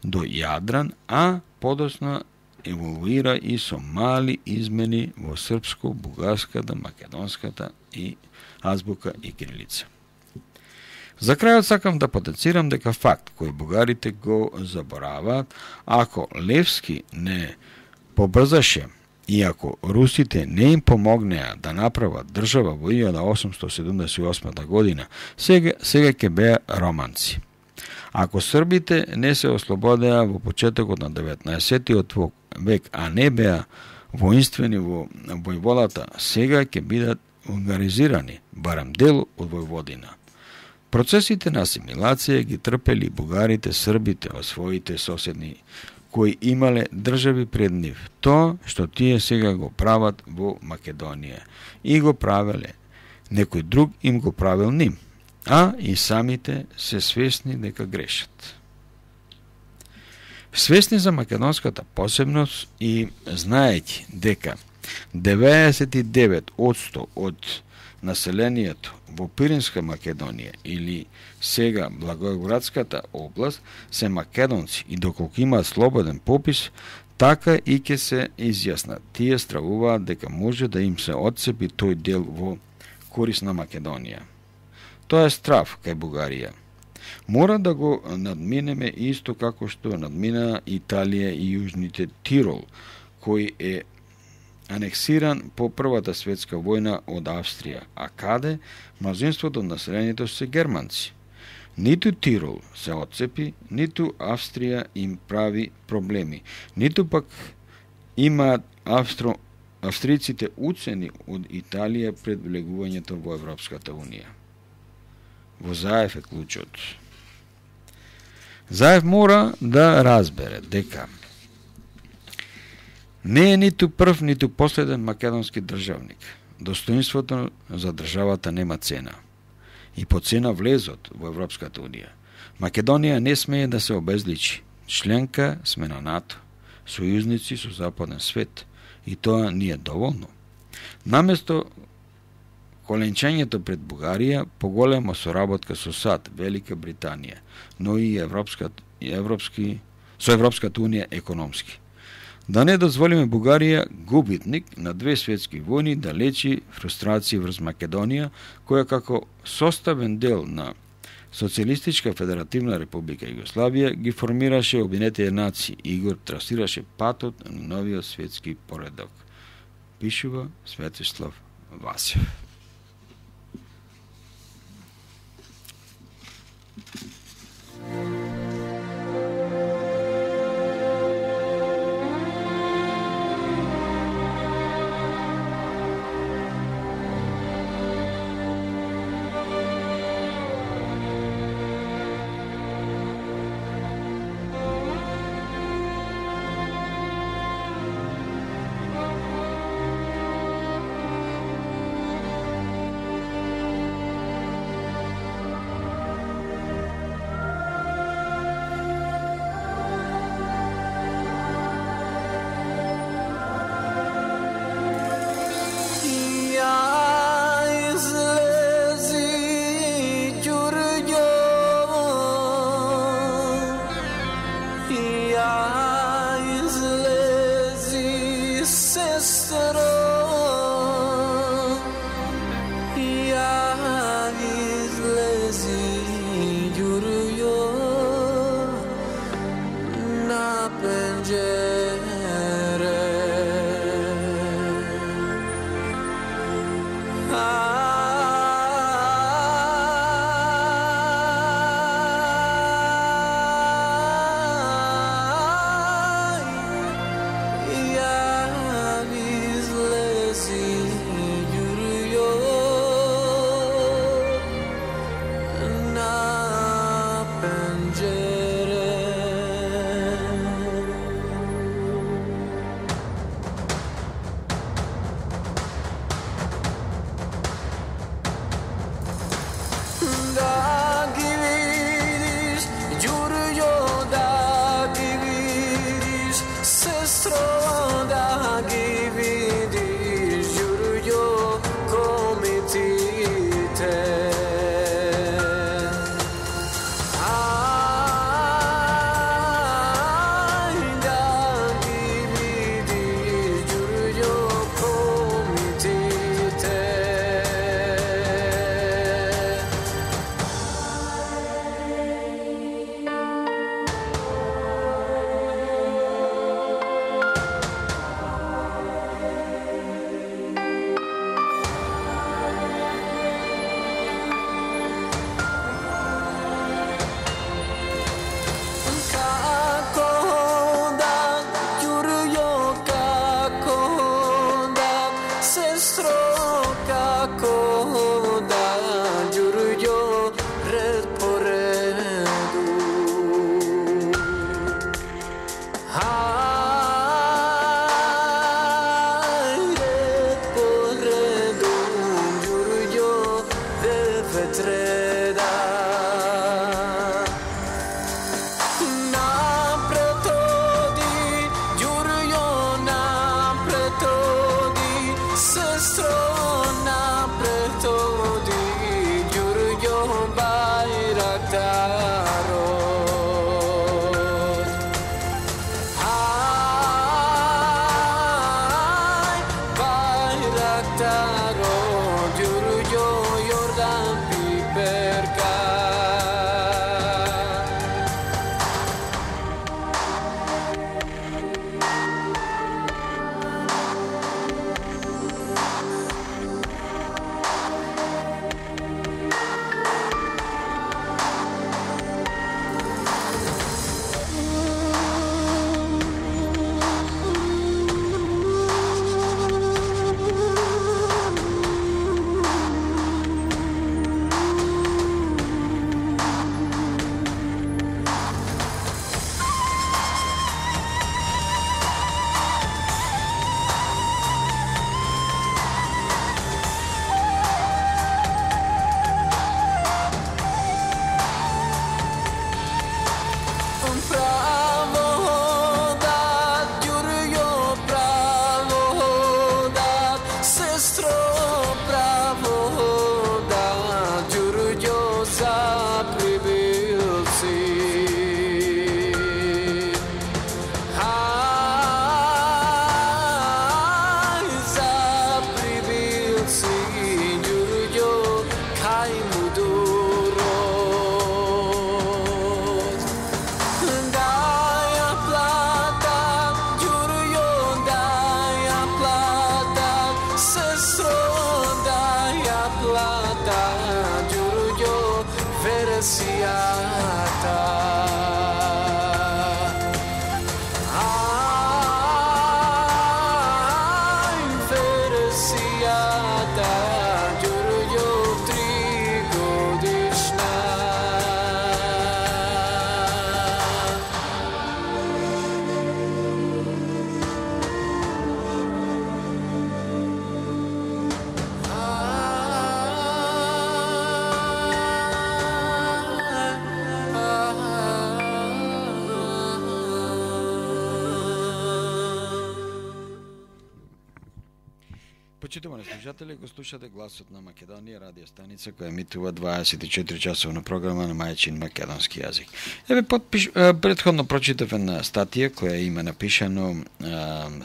до Јадран, а подосно еволуира и со мали измени во српско, бугарската, македонската и азбука и кирилица. За крајот сакам да потенцирам дека факт кој бугарите го забораваат, ако Левски не побрзаше и ако русите не им помогнеа да направат држава во 1878 година, сега ќе беа романци. Ако србите не се ослободеа во почетокот на 19-тиот век, а не беа воинствени во војводата, сега ќе бидат унгаризирани, барем дел од Војводина. Процесите на асимилација ги трпели бугарите, србите во своите соседни, кои имале држави пред нив. Тоа што тие сега го прават во Македонија и го правеле, некој друг им го правил ним, а и самите се свесни дека грешат. Свесни за македонската посебност и знаејќи дека 99% од населението во Пиринска Македонија или сега Благоевградската област се македонци и доколку имаат слободен попис, така и ќе се изјаснат. Тие стравуваат дека може да им се отцепи тој дел во корис на Македонија. Тоа е страв кај Бугарија. Мора да го надминеме исто како што надмина Италија и Јужните Тирол, кој е анексиран по Првата светска војна од Австрија, а каде мнозинството од населението се германци. Ниту Тирол се отцепи, ниту Австрија им прави проблеми, ниту пак имаат австриците уцени од Италија пред влегувањето во Европската Унија. Во Заев е клучот. Заев мора да разбере дека не е ниту прв, ниту последен македонски државник. Достоинството за државата нема цена. И по цена влезот во Европската Унија. Македонија не смее да се обезличи. Членка сме на НАТО, сојузници со западен свет. И тоа не е доволно. Наместо коленчењето пред Бугарија, поголема соработка со САД, Велика Британија, но и со Европската Унија економски. Да не дозволиме Бугарија, губитник на 2 светски војни, да лечи фрустрации врз Македонија, која како составен дел на Социјалистичка федеративна република Југославија ги формираше Обединетите нации и го трасираше патот на новиот светски поредок. Пишува Светослав Васев. Сестро, како да ѓурѓо ред по реду. Ред по реду, ѓурѓо девет реда. Напред оди, ѓурѓо напред оди, сестро напред оди, ѓурѓо бајрактарот. Бајрактарот, ѓурѓо Јордан Пиперка. Правоdat, ѓурѓо правоdat, сестро правоdat, ѓурѓо за прибилци. За прибилци, ѓурѓо кај мудурот. Daja plata, ѓурѓo daja plata, sestro daja plata, ѓурѓo вересијата. Вересијата, ѓурѓо 3 годишна. Почитувани слушатели, го слушате Гласот на Македонија, радио станица која емитува 24 часовна програма на мајчин македонски јазик. Еве претходно прочитав една статија која има напишано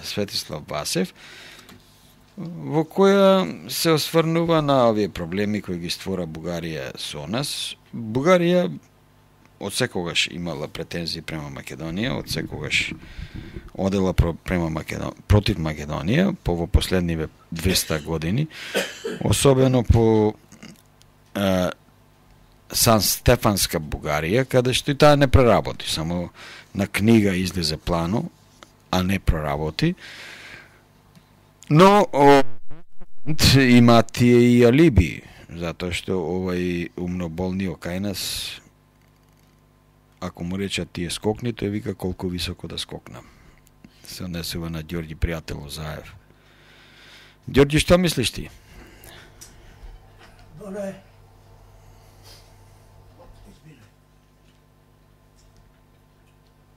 Светислав Васев, во која се осврнува на овие проблеми кои ги створа Бугарија со нас. Бугарија од секогаш имала претензии према Македонија, од секогаш одела против Македонија по последниве 200 години, особено по Сан Стефанска Бугарија, каде што и таа не проработи, само на книга излезе плано, а не проработи. Но има тие и алиби, затоа што овај умноболниот кај нас, ако му речат тие скокни, тој вика колку високо да скокнам. Се однесува на Ѓорѓи пријател Заев. Ѓорѓи, што мислиш ти?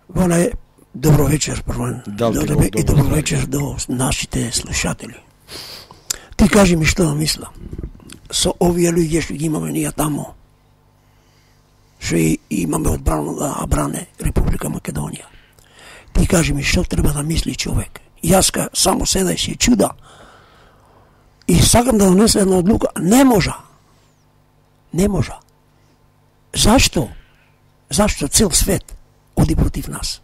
Воле, добро вечер прво. И добро вечер до нашите слушатели. Ти кажи ми што мисла. Со овие луѓе што ги имаме ние тамо, што имаме одбрано да бране Република Македонија. Ти кажи ми што треба да мисли човек. Јас само седа и се чуда и сакам да донесам една одлука. Не можа. Зашто? Зашто цел свет оди против нас?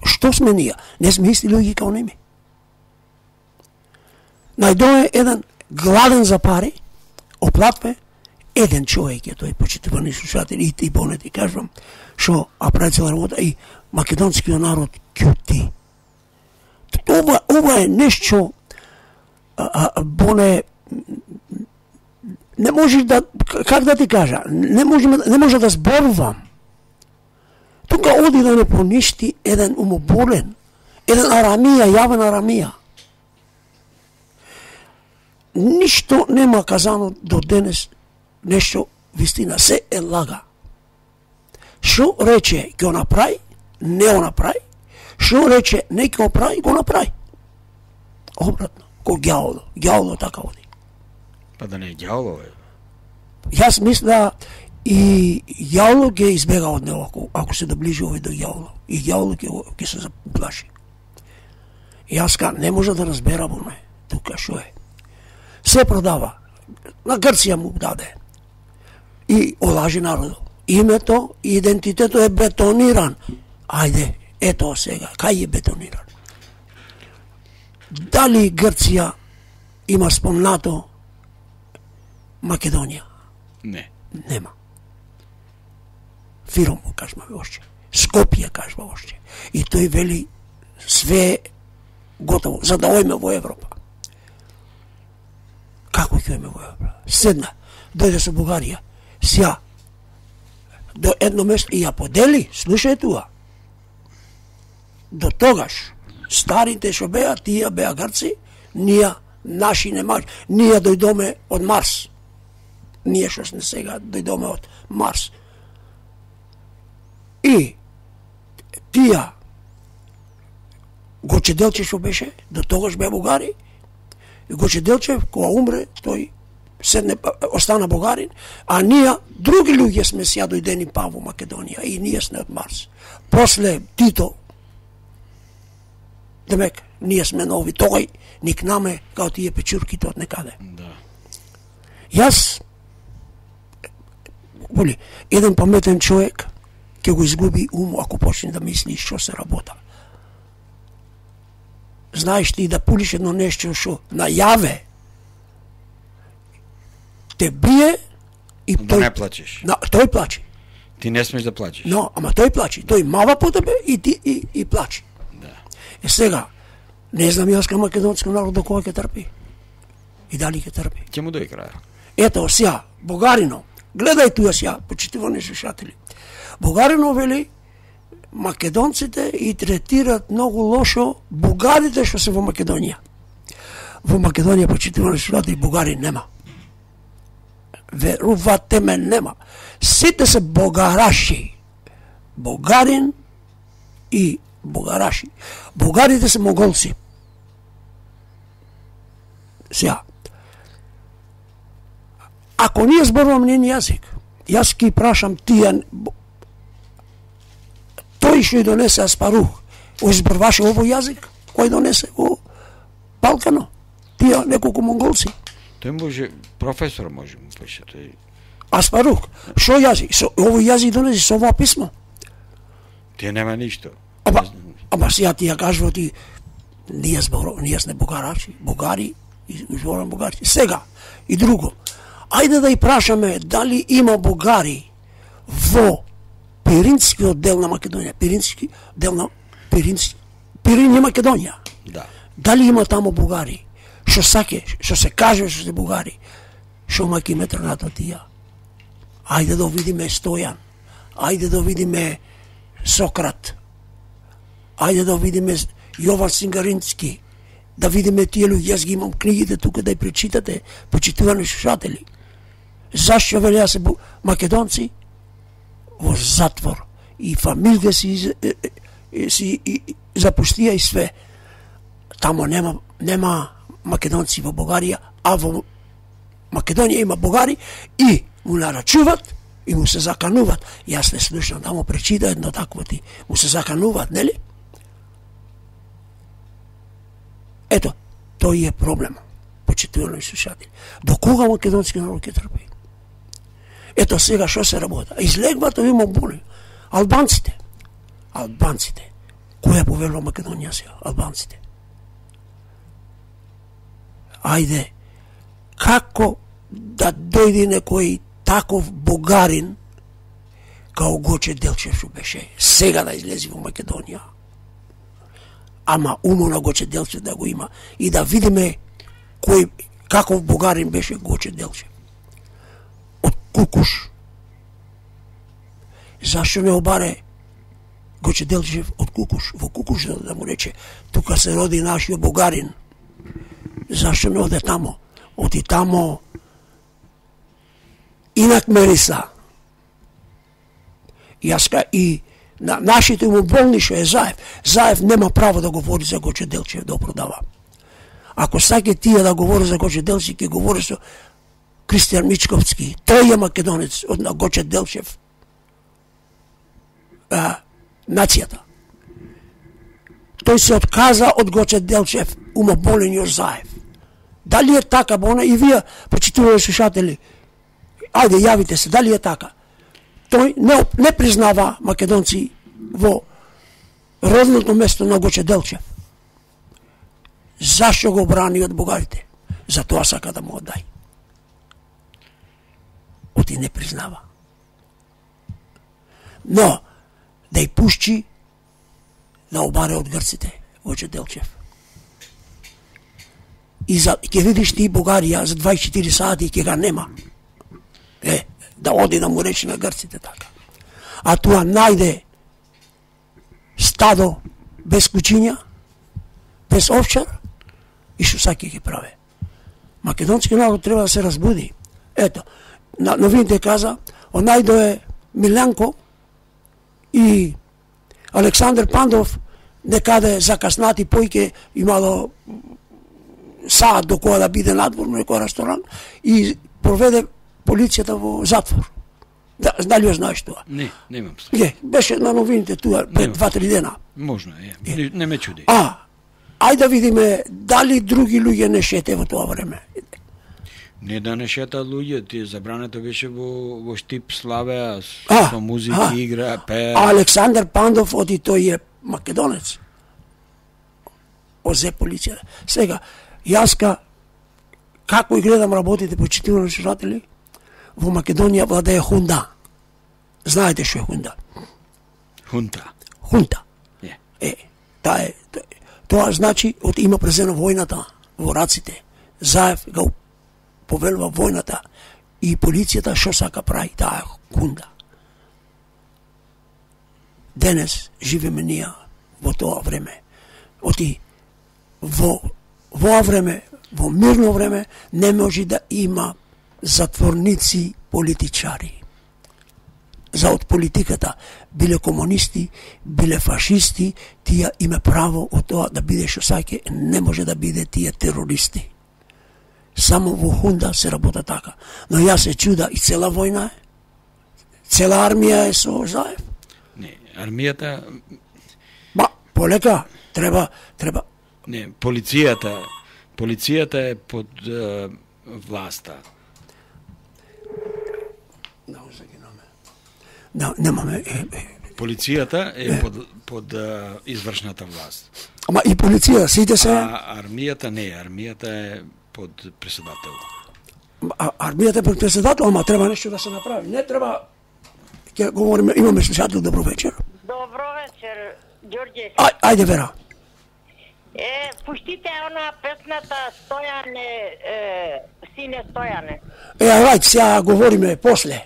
Што сме ние? Не сме исти луѓе као неми. Најдое еден гладен за пари, оплатве, еден човек е тој, почитувани слушатели, и поне ти кажувам, што прави цела работа и македонскиот народ ќути. Ова е нешто Боне, не можеш да, как да ти кажа, не може да зборувам. Тука оди да не поништи еден умоболен, еден арамија, јавен арамија. Ништо нема казано до денес, нешто вистина, се е лага. Шо рече ќе го направи, не го направи, шо рече не ќе го прави, го направи. Обратно, ко ѓаволо така оди. Па да не е ѓаволо, бе. Јас мисля и ѓаволо ќе избега од него ако се доближи овој до ѓаволо. И ѓаволо ќе се заплаши. Јас не може да разберам оне, тука шо е. Се продава. На Грција му даде. И олажи народот. Името и идентитетот е бетониран. Ајде, ето сега, кај е бетониран? Дали Грција има спомнато Македонија? Не. Нема. Фиром му кажма още. Скопје кажма още. И тој вели све готово, за да ојме во Европа. Како ќе ојме во Европа? Седна, дојде со Бугарија, сја, до едно место и ја подели, слушај туа. До тогаш, старите што беа, тие беа Грци, ние, наши немачи, ние дојдоме од Марс. Ние што сме сега дојдоме од Марс. И тија Гоче Делчев што беше, до тогаш беа бугари, и Гоче Делчев, кога умре, тој седне, остана бугарин, а ние, други луѓе сме сја дојдени па во Македонија, и ние сме од Марс. После Тито, демек, ние сме нови, тој никнаме као тие печурките од некаде. Да. Јас, еден паметен човек ќе го изгуби ум ако почне да мисли што се работа. Знаеш ти да пулиш едно нешто што најаве те бие и Да не плачеш. Тој плаче. Ти не смеш да плачеш. Но, ама тој плаче. Тој мава по тебе и ти и плаче. Да. Сега, не знам јас кај македонски народ до кога ќе трпи. И дали ќе трпи. Ќе му дојде крај. Ето, сја, Бугарино, гледај туја сја, почитувани слушатели. Бугарино вели, македонците и третират многу лошо бугарите што се во Македонија. Во Македонија, почитувани слушатели, бугари нема. Верувате ме, нема. Сите се бугараши. Бугарин и бугараши. Бугарите се монголци. Сја, ако ние зборувам нjen јазик, јас ки прашам тие, тој што ја донесе Аспарух, изборваше овој јазик, кој донесе во Балкано, тие неколку монголци. Тој може, професор може му пише, тој... Аспарух, шо јазик? Овој јазик донесе со ова писмо. Тие нема ништо. Ама сија ти ја кажува ти, ние сме бугарачи, бугари, изборувам бугари. Сега, и друго, ајде да и прашаме дали има бугари во Пиринскиот дел на Македонија, Пирин е Македонија. Да. Дали има таму бугари? Што се каже што се бугари? Што маки метрнато тија? Ајде да видиме Стојан. Ајде да видиме Сократ. Ајде да видиме Јован Сингарински. Да видиме тие луѓе, јас ги имам книгите тука да ја прочитате, почитувани слушатели. Зашто велеа се македонци во затвор и фамилите си запуштија и све. Тамо нема македонци во Бугарија, а во Македонија има бугари и му нарачуват и му се закануват. Јас не слушам, тамо пречита едно такво ти. Му се закануват, нели? Ето, тој е проблем. Почитувани слушатели. До кога македонски народ ќе трпи? Ето сега што се работа. Излегват овие мобули. Албанците. Која повелува Македонија сега? Албанците. Ајде, како да дојде некој таков бугарин као Гоче Делчев што беше сега да излези во Македонија? Ама умо на Гоче Делчев да го има и да видиме кој каков богарин беше Гоче Делчев. Од Кукуш. Зашто не обаре Гоче Делчев од Кукуш, во Кукуш да му рече, тука се роди нашиот богарин. Зашто не оде тамо? Оди тамо инак Мериса. И на нашите му болни што е Заев. Заев нема право да говори за Гоче Делчев да продава. Ако саке тие да говори за Гоче Делчев, ќе говори со Кристијан Мичковски. Тој е македонец од на Гоче Делчев. Нацијата. Тој се отказа од Гоче Делчев, умоболениот Заев. Дали е така, бона, и вие, почитувани слушатели, ајде, јавите се, дали е така? Тој не признава македонци во родното место на Гоче Делчев. Зашто го брани од богарите? Затоа сака да му оддај. Оти не признава. Но, да ја пушчи да обаре од грците Гоче Делчев. И ќе видиш ти Бугарија за 24 сати ќе га нема. Да оди да му рече на грците така. А тоа најде стадо без кучиња, без овчар и што саки ги праве. Македонски народ треба да се разбуди. Ето, на новините каза, онајдо е Милјанко и Александар Пандов некаде закаснати појке имало саат до која да биде надвор на некој ресторан и проведе полицијата во затвор. Дали ја знаеш тоа? Не имам след. Беше на новините туа пред 2-3 дена. Можно, не ме чуди. Ајде да видиме дали други луѓе не шете во тоа време. Не да не шета луѓе, ти забрането беше во штип славеа, со музика, игра, пее. Александар Пандов оди тој е македонец. Озе полиција. Сега, јаска, како и гледам работите, почитувани слушатели, во Македонија владее хунда. Знаете што е хунда? Хунта. Тоа значи, од има презено војната во раците. Заев го повелува војната и полицијата што сака прави, таа е хунда. Денес живеме ние во тоа време. Оти во време, во мирно време, не може да има затворници политичари. За од политиката, биле комунисти, биле фашисти, тие има право од тоа да биде што саке, не може да биде тие терористи. Само во хунда се работа така. Но јас се чуда и цела војна е. Цела армија е со Заев. Не, армијата... Полека, треба... Не, полицијата е под власта. Немаме... Полицијата е под извршната власт. Ама и полиција, сите се... Армијата не, армијата е под председател. Армијата е под председател, ама треба нешто да се направи. Не треба... Ќе говориме, имаме слушател, добро вечер. Добро вечер, Ѓорѓе. Ајде, Вера. Пуштите она песната Стојане, сине Стојане. Ајде, сега говориме после.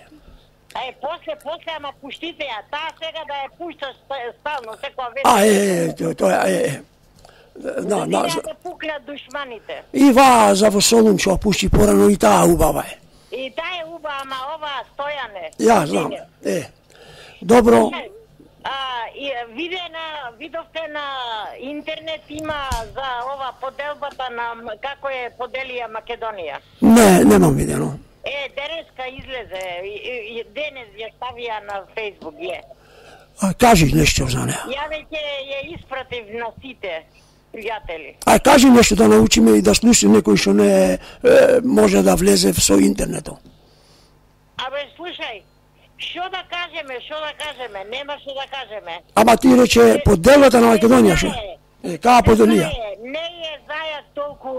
После, ама пуштите ја. Таа сега да ја пушташ стално, секоја вечер. Тоа е. Да пукнат душманите. И за во Солун што пушти порано и таа убава е. И таа е убава, ама ова Стојане. Ја знам. Добро. Видовте на интернет има за ова поделбата на како е поделија Македонија. Не, немам видено. Денеска излезе, денес ја ставија на Фејсбук, Кажи нешто за неа. Ја веќе ја испратив на сите пријатели. Кажи нешто да научиме и да слуша некој што не може да влезе со интернетот. Слушај, што да кажеме, нема што да кажеме. Ама ти рече поделата на Македонија што? Каа поделија? Не е Зајак толку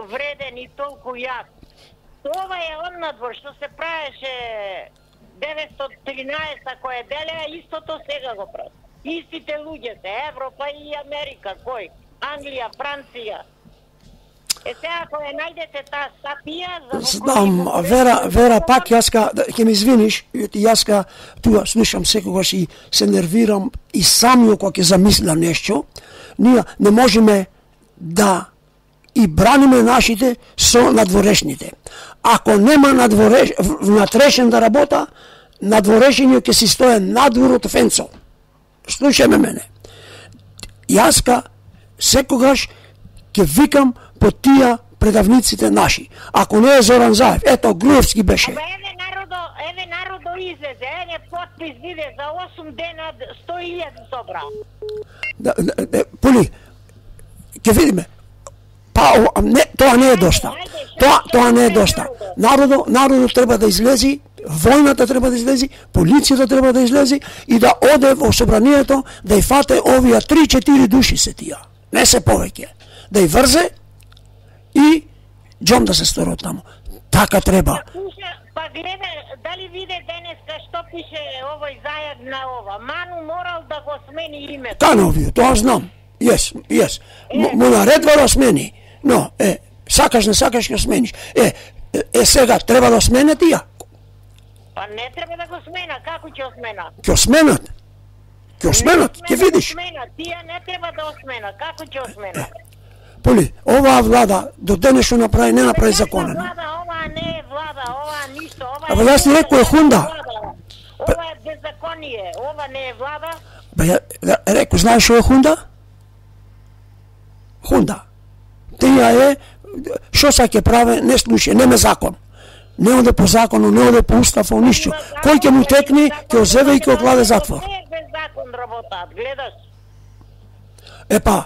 вреден и толку јак. Ова е однадвор што се правеше 913 кој делеа, истото сега го прави. Истите луѓе се, Европа и Америка, кој? Англија, Франција. Сега ако ја најдете таа статија за Знам, Вера, пак јаска, ќе ми извиниш, јаска туа слушам секогаш и се нервирам и самиот кога ќе замислам нешто, ние не можеме да и браниме нашите со надворешните. Ако нема внатрешен да работа, надворешениот ќе си стое надвор од фенцо. Слушаме мене. Јаска секогаш ќе викам по тие предавниците наши. Ако не е Зоран Заев, ето Груевски беше. Еве народо излезе, еве подпис биде за 8 дена 100.000 собра. Поли, ќе видиме. Не, тоа не е доста. Тоа не е доста. Народот треба да излези, војната треба да излези, полицијата треба да излези и да оде во собранието да ја фате овие 3-4 души се тие. Не се повеќе. Да ја врзе и џом да се стори таму. Така треба. Па гледа, дали виде денеска што пише овој зајак на ова. Ману морал да го смени името. Кановио, тоа знам. Јес. Му наредва да смени. Но, сакаш не сакаш ќе смениш. Сега треба да смене тие. Па не треба да го смена, како ќе го смена? Ќе сменат, ќе видиш. Тие не треба да го смена, како ќе го смена? Поли, оваа влада до денешно направи, не направи законен. Ова не е влада, ова ништо, ова Абе, јас ти рекој е хунда. Ова е беззаконие, ова не е влада. Рекој, знаеш што е хунда? Хунда. Тија е, што са ќе праве, не слуша, нема закон. Не оде по закону, не оде по устав, ништо. Кој ќе му текне, ќе озеве и ќе окладе затвор. Не е без закон работат, гледаш. Епа,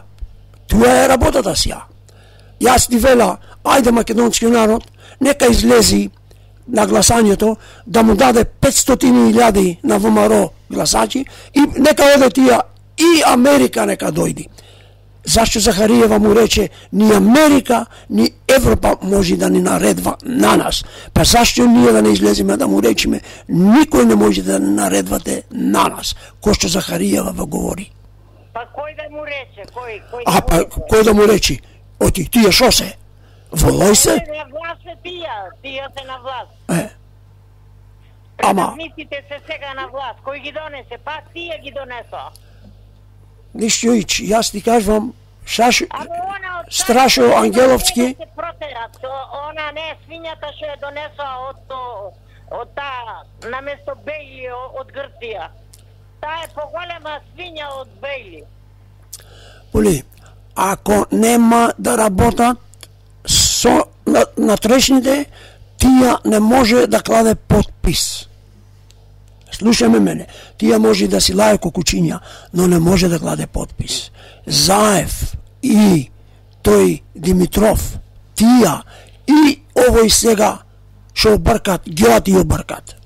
тоа е работата си ја. Јас ти вела, ајде македонски народ, нека излези на гласањето, да му даде 500.000 на ВМРО гласачи и нека оде тија и Америка нека дојди. Зашто Захариева му рече, ни Америка, ни Европа може да ни наредва на нас. Па зашто ние да не излеземе да му речеме, никој не може да ни наредвате на нас, кој што Захариева во говори. Па кој да му рече? Кој да му рече? Оти, тие шо се? Волој се? На власт се тие се на власт. Предавниците се сега на власт. Кој ги донесе? Па тие ги донесо. Ништо ич, јас ти кажувам, Страшо Ангеловски. Она не е свињата што ја донесла од таа, наместо Бејли од Грција. Таа е поголема свиња од Бејли. Поли, ако нема да работат со натрешните, тија не може да кладе подпис. Слушаме мене, тија може да си лае кокучиња, но не може да кладе подпис. Заев и тој Димитров, тија и овој сега што обркат, геат и обркат.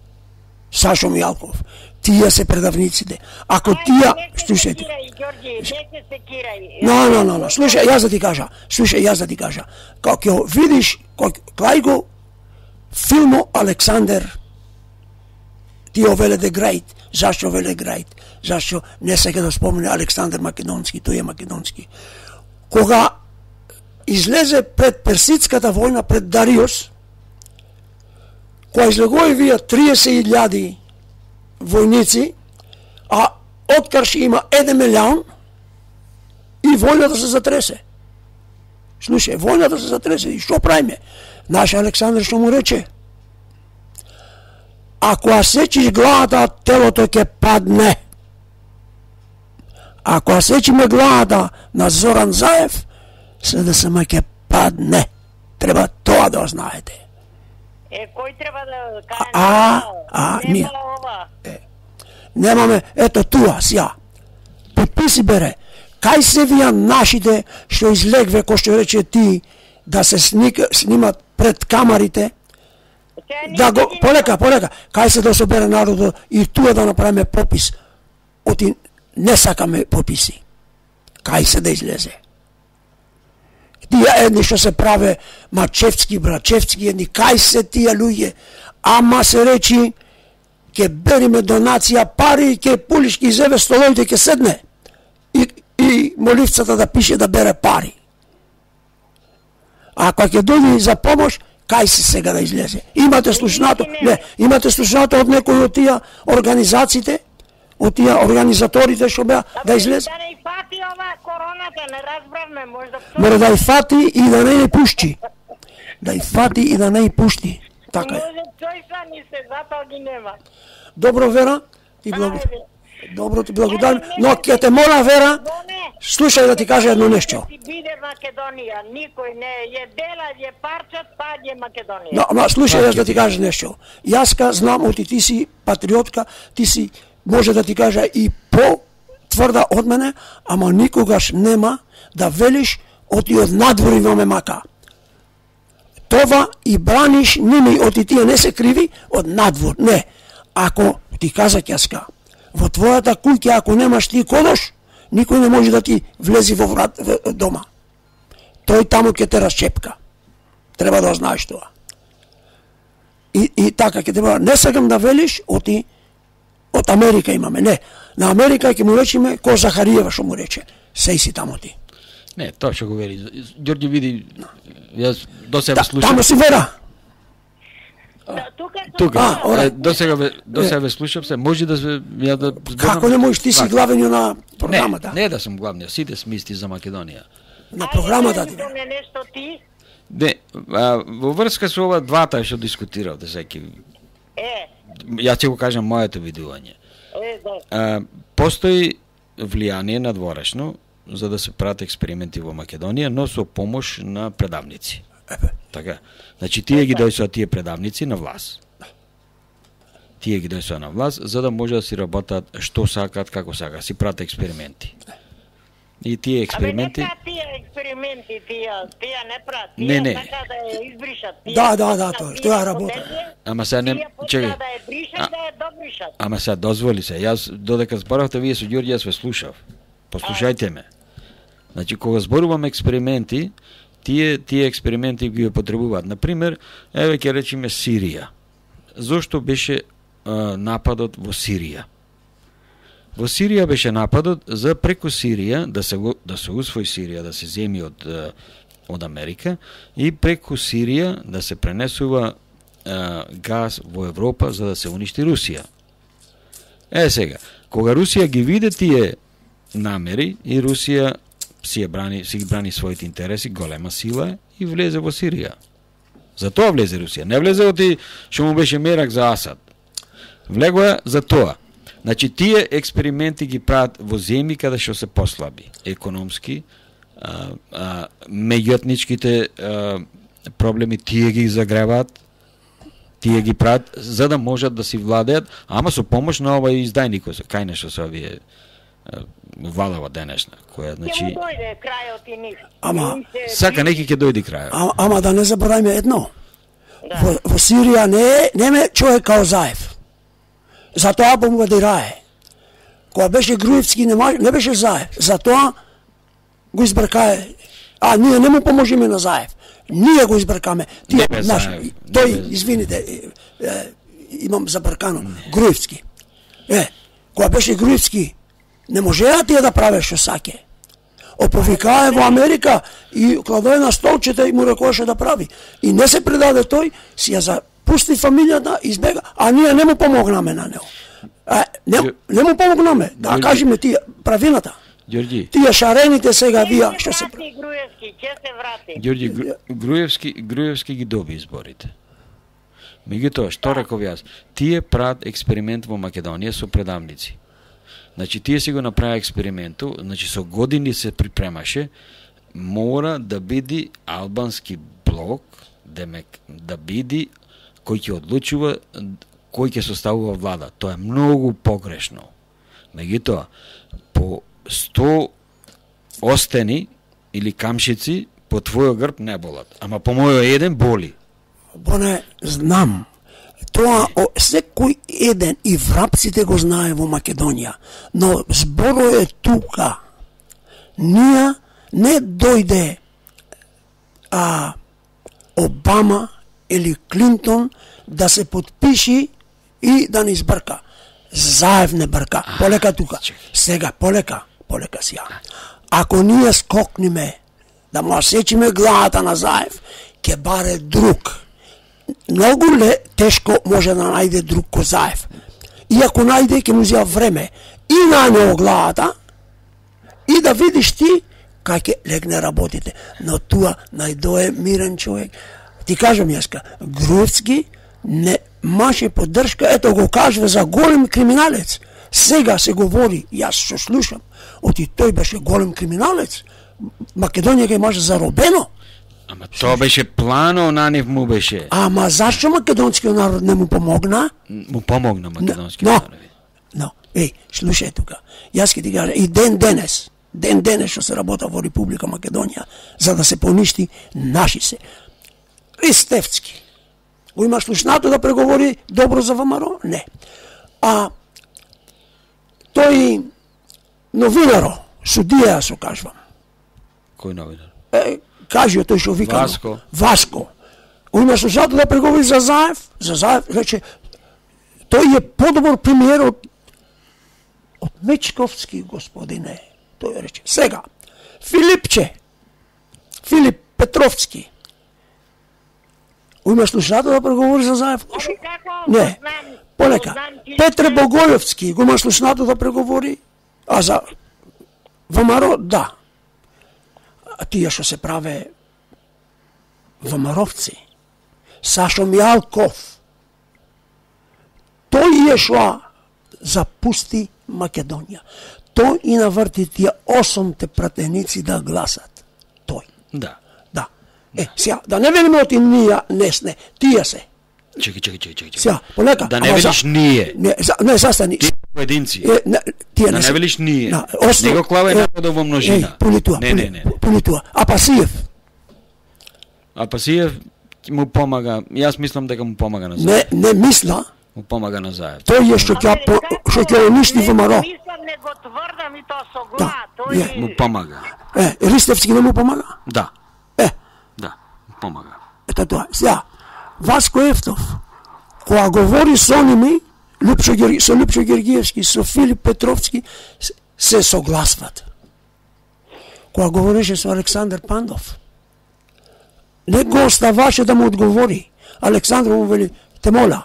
Сашо Мијалков, тија се предавниците. Ако тија, слушајте. Но, слушај, јас да ти кажа. Како видиш, клај го филмо Александер, ти овеле де Грајт, зашто овеле Грајт? Зашто не сега да спомне Александр Македонски, тој е македонски. Кога излезе пред Персидската војна, пред Дариос, кога излегови вие 30.000 војници, а откарш има 1 милион, и војната се затресе. Слушај, војната се затресе, и што правиме? Наш Александр што му рече? Ако ја сечиш главата, телото ќе падне. Ако ја сечиме главата на Зоран Заев, СДСМ ќе падне. Треба тоа да знаете. Кој треба да каже? Ние. Немаме, ето туа, сја. Подписи бере. Кај се вија нашите што излегве, кој што рече ти, да се снимат пред камарите, да го, полека, кај се да собере народот и туа да направиме попис. Оти не сакаме пописи. Кај се да излезе. Тие едни што се праве Мачевски, Брачевски, едни, кај се тие луѓе, ама се речи, ке бериме донација, пари, ке Пулиш ки зеве столовите, ке седне и моливцата да пише да бере пари. А кога ќе дојде за помош, кај си сега да излезе? Имате слушнато, не, имате слушнато од некои од тие организациите, од тие организаторите што беа да излезе? Да не фати ова короната, не разбравме, можда... Мора да ја фати и да не ја пушти. Да ја фати и да не ја пушти. Така е. Може тој са ни се, затоа ги нема. Добро, Вера, ти благодарам. Добро, ти благодарам, но ќе те мола, Вера, слушај да ти кажа едно нешто. Ти биде Македонија, никој не е дела, е парчат, па е Македонија. Но, ама слушај да ти кажа нешто. Јаска знам оти ти си патриотка, ти си, може да ти кажа и по-тврда од мене, ама никогаш нема да велиш оти од надвори во ме мака. Това и браниш ними, оти тие не се криви од надвор, не. Ако ти каза Јаска, во твојата куќа ако немаш ти кодош, никој не може да ти влези во врат дома. Тој таму ќе те расчепка. Треба да знаеш тоа. И така ќе треба, не сакам да велиш оти од Америка имаме, не. На Америка ќе му речеме ко Захариева што му рече. Сеј си таму ти. Не, тоа што го вели. Ѓорѓе види, јас до себе слушам. Таму си, Вера. Тука, до сега ве слушам се, може да се ја да зборам. Како не можеш, ти си главен на програмата? Не да сум главниот, сите сме исти за Македонија. На програмата ти. Не нешто ти? Не, во врска со ова двата што дискутиравте секи. Јас ќе го кажам моето видување. Постои влијание надворешно за да се прават експерименти во Македонија, но со помош на предавници. Така. Значи тие ги дојсоа тие предавници на власт. Тие ги дојсоа на власт за да може да си работат што сакат, како сакат, си прават експерименти. И тие експерименти... Абе, тие експерименти, тие не прават, не. така да ја избришат. Да, тоа работа. Ама сега не... Чекај. Да ја бришат, да ја добришат. Ама сега дозволи се, јас додека зборавте вие со Ѓорѓе, јас ве слушав. Послушајте ме. Значи, кога зборуваме експерименти, тие експерименти ги потребуваат. Например, еве ќе речеме Сирија. Зошто беше нападот во Сирија? Во Сирија беше нападот за преку Сирија да се усвои Сирија, да се земи од Америка и преку Сирија да се пренесува газ во Европа за да се уништи Русија. Сега, кога Русија ги види тие намери и Русија си ги брани своите интереси, голема сила е и влезе во Сирија. Затоа влезе Русија. Не влезе оти што му беше мерак за Асад. Влегоа за тоа. Значи, тие експерименти ги прават во земји каде што се послаби. Економски, меѓуетничките проблеми тие ги загреваат, тие ги прават за да можат да си владеат, ама со помош на овај издајникот, кај нешто се овие валава денешна, која, значи... Ќе му дојде крајот и нив. Ама, сака неки ќе дојде крајот. Ама да не забораваме едно. Во Сирија не човек као Заев. Затоа бомбардирае. Кога беше Груевски не беше Заев. Затоа го избркае. А ние не му поможиме на Заев. Ние го избркаме. Тој, извините, имам забркано. Груевски. Кога беше Груевски, не можеа тие да праве што саке. Оповикае во Америка и кладое на столчета и му рекоеше да прави. И не се предаде тој, си ја запусти фамилијата, избега, а ние не му помогнаме на него. Не му помогнаме, да кажеме тие правината. Ѓорѓи. Тие шарените сега вија што се прави. Груевски, ќе се врати. Ѓорѓи, Груевски ги доби изборите. Меѓутоа, што реков јас? Тие прават експеримент во Македонија со предавници. Значи, тие си го направи експерименту, значи со години се припремаше, мора да биде албански блок, да биде кој ќе одлучува, кој ќе составува влада. Тоа е многу погрешно. Меѓутоа, по 100 остени или камшици по твојот грб не болат, ама по мојот еден боли. Боне, знам. Тоа секој еден и врапците го знае во Македонија, но зборот е тука. Ние не дојде Обама или Клинтон да се подпиши и да не избрка. Заев не брка. Полека тука. Сега, полека сега. Ако ние скокниме да му сечиме главата на Заев, ќе баре друг. Многу тешко може да најде друг ко Заев. И ако најде, ќе му зија време и на него главата, и да видиш ти кај ќе легне работите. Но туа најдое мирен човек. Ти кажам јаска, Груевски не маше поддршка, ето го кажува за голем криминалец. Сега се говори, јас што слушам, оти тој беше голем криминалец. Македонија ќе имаше заробено. Ама тоа беше плано, на нив му беше. Ама зашто македонскиот народ не му помогна? Му помогна македонскиот народ. Но, слушај тука. Јас ќе ти кажа, и ден денес што се работа во Република Македонија, за да се поништи наши се. Ристевски. Го има слушнато да преговори добро за ВМРО? Не. А тој новинаро, судија со кажувам. Кој новинар? Кажи тој што вика Васко. Го има слушнато да преговори за Заев, рече, тој е подобар премиер од Мечковски, господине. Тој рече. Сега, Филип Петровски. Има слушнато да преговори за Заев? Не. Полека. Петре Богојовски, го има слушнато да преговори? А за ВМРО, да. А тие што се праве ВМРО-вци. Сашо Мијалков. Тој е што запусти Македонија. Тој и наврти тие 8 пратеници да гласат. Тој. Да. Сега, да не велиме оти ние, не, тие се. Чекај. Сега, полека. Да не велиш ние. Не, застани. Тие поединци. Тие да не велиш ние. Не го клавај народот во множина. Не. Политуа. Апасиев му помага. Јас мислам дека му помага на Заев. Не мисла. Му помага на Заев. Тој е што ќе уништи ВМРО. Мислам, не го тврдам и тоа со глад. Тој му помага. Ристевски не му помага? Да. Да, помага. Ето тоа. Сега, Васко Ефтов, кога говори со оними, со Лупчо Гергиевски, со Филип Петровски, се согласват. Кога говореше со Александар Пандов, не го оставаше да му одговори. Александар му вели, те моля.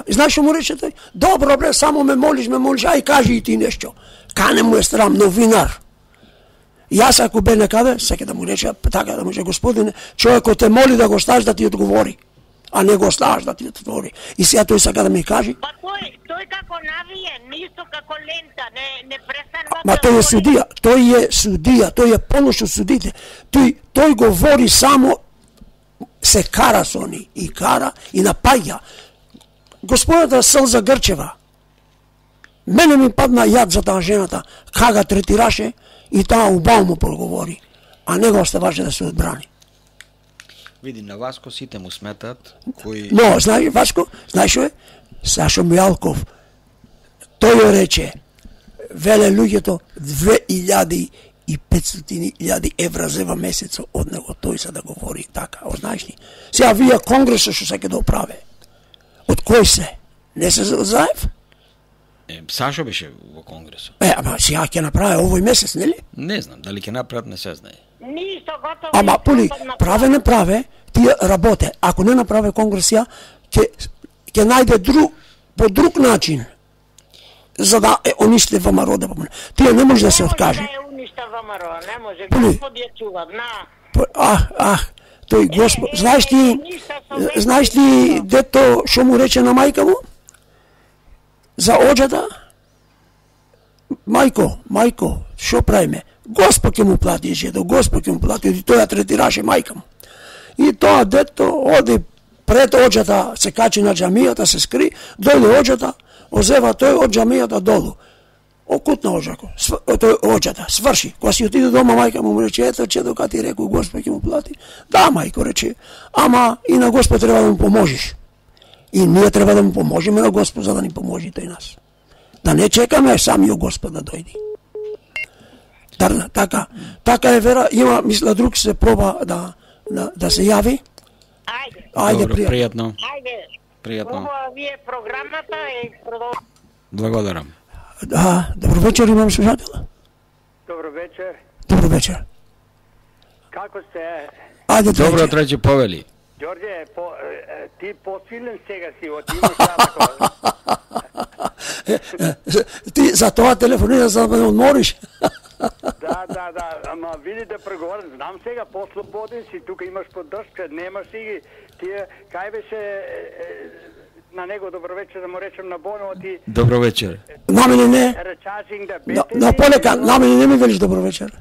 И знаеш што му рече тој? Добро бре, само ме молиш, ај кажи и ти нешто. Кане му е срам, новинар. Јас ако бе некаде, сека да му рече, така да му рече, господине, човекот те моли да го ставиш да ти одговори, а не го ставиш да ти одговори. И сега тој сака да ми кажи. Па тој како навие, нисто како лента, не престанува. Ма тој е судија, тој е полошо судите. Тој говори само, се кара со они, и кара, и напаѓа. Господата Сълза Грчева, мене ми падна јад за таа жената, кога третираше, и таа убаво му проговори, а не го оставаше да се одбрани. Види, на Васко сите му сметат кои... Но, знаеш, Васко, знаеш што е? Сашо Мијалков, тој ја рече, веле луѓето 2.500 евра зева месецо од него, тој се да говори така, знаеш ли? Сега вие конгресот што се ќе да оправе, од кој се? Не се Заев? Сашо беше во конгресот. Ама сега ќе направи овој месец, нели? Не знам, дали ќе направат, не се знае. Нисто готово. Ама поли, не праве, тие работе. Ако не направи конгресија, ќе најде по друг начин за да уништи ВМРО да помне. Тие не може да се откаже. Не може да уништа ВМРО, не може. Поли. Господ ја чува, тој Господ, знаеш ти дето што му рече на мајка му? За оџата? Мајко, што правиме? Господ ќе му плати жедо, Господ ќе му плати, и тој ја третираше мајка му. И тоа дето оди пред оџата, се качи на џамијата, се скри, дојде оџата, озева тој од џамијата долу. Окутна оџата, сврши. Кога си отиде дома, мајка му рече, ето чедо кога ти рекој Господ ќе му плати. Да, мајко рече, ама и на Господ треба да му поможиш. И ние треба да му поможеме на Господ за да ни поможи тој нас. Да не чекаме самиот Господ да дојде. Така е вера, има, мисля, друг се проба да се јави. Ајде, пријатно. Пријатно. Ова ви е програмата и продолжуваме. Благодарам. Добро вечер, имам слушател. Добро вечер. Добро вечер. Како сте? Ајде, Добро Трајче. Трајче, повели. Ѓорѓе, ти посилен сега си, имаш такова. Ти за тоа телефонира за да ме одмориш. Да, ама види да преговарам, знам сега, по-слободен си, тука имаш поддршка, немаш си тие, кај беше на него добро вечер, да му речем на Боно, ти Добро вечер. На мене не. речачинг да На, бете. на полека, на мене не ми велиш добро вечер.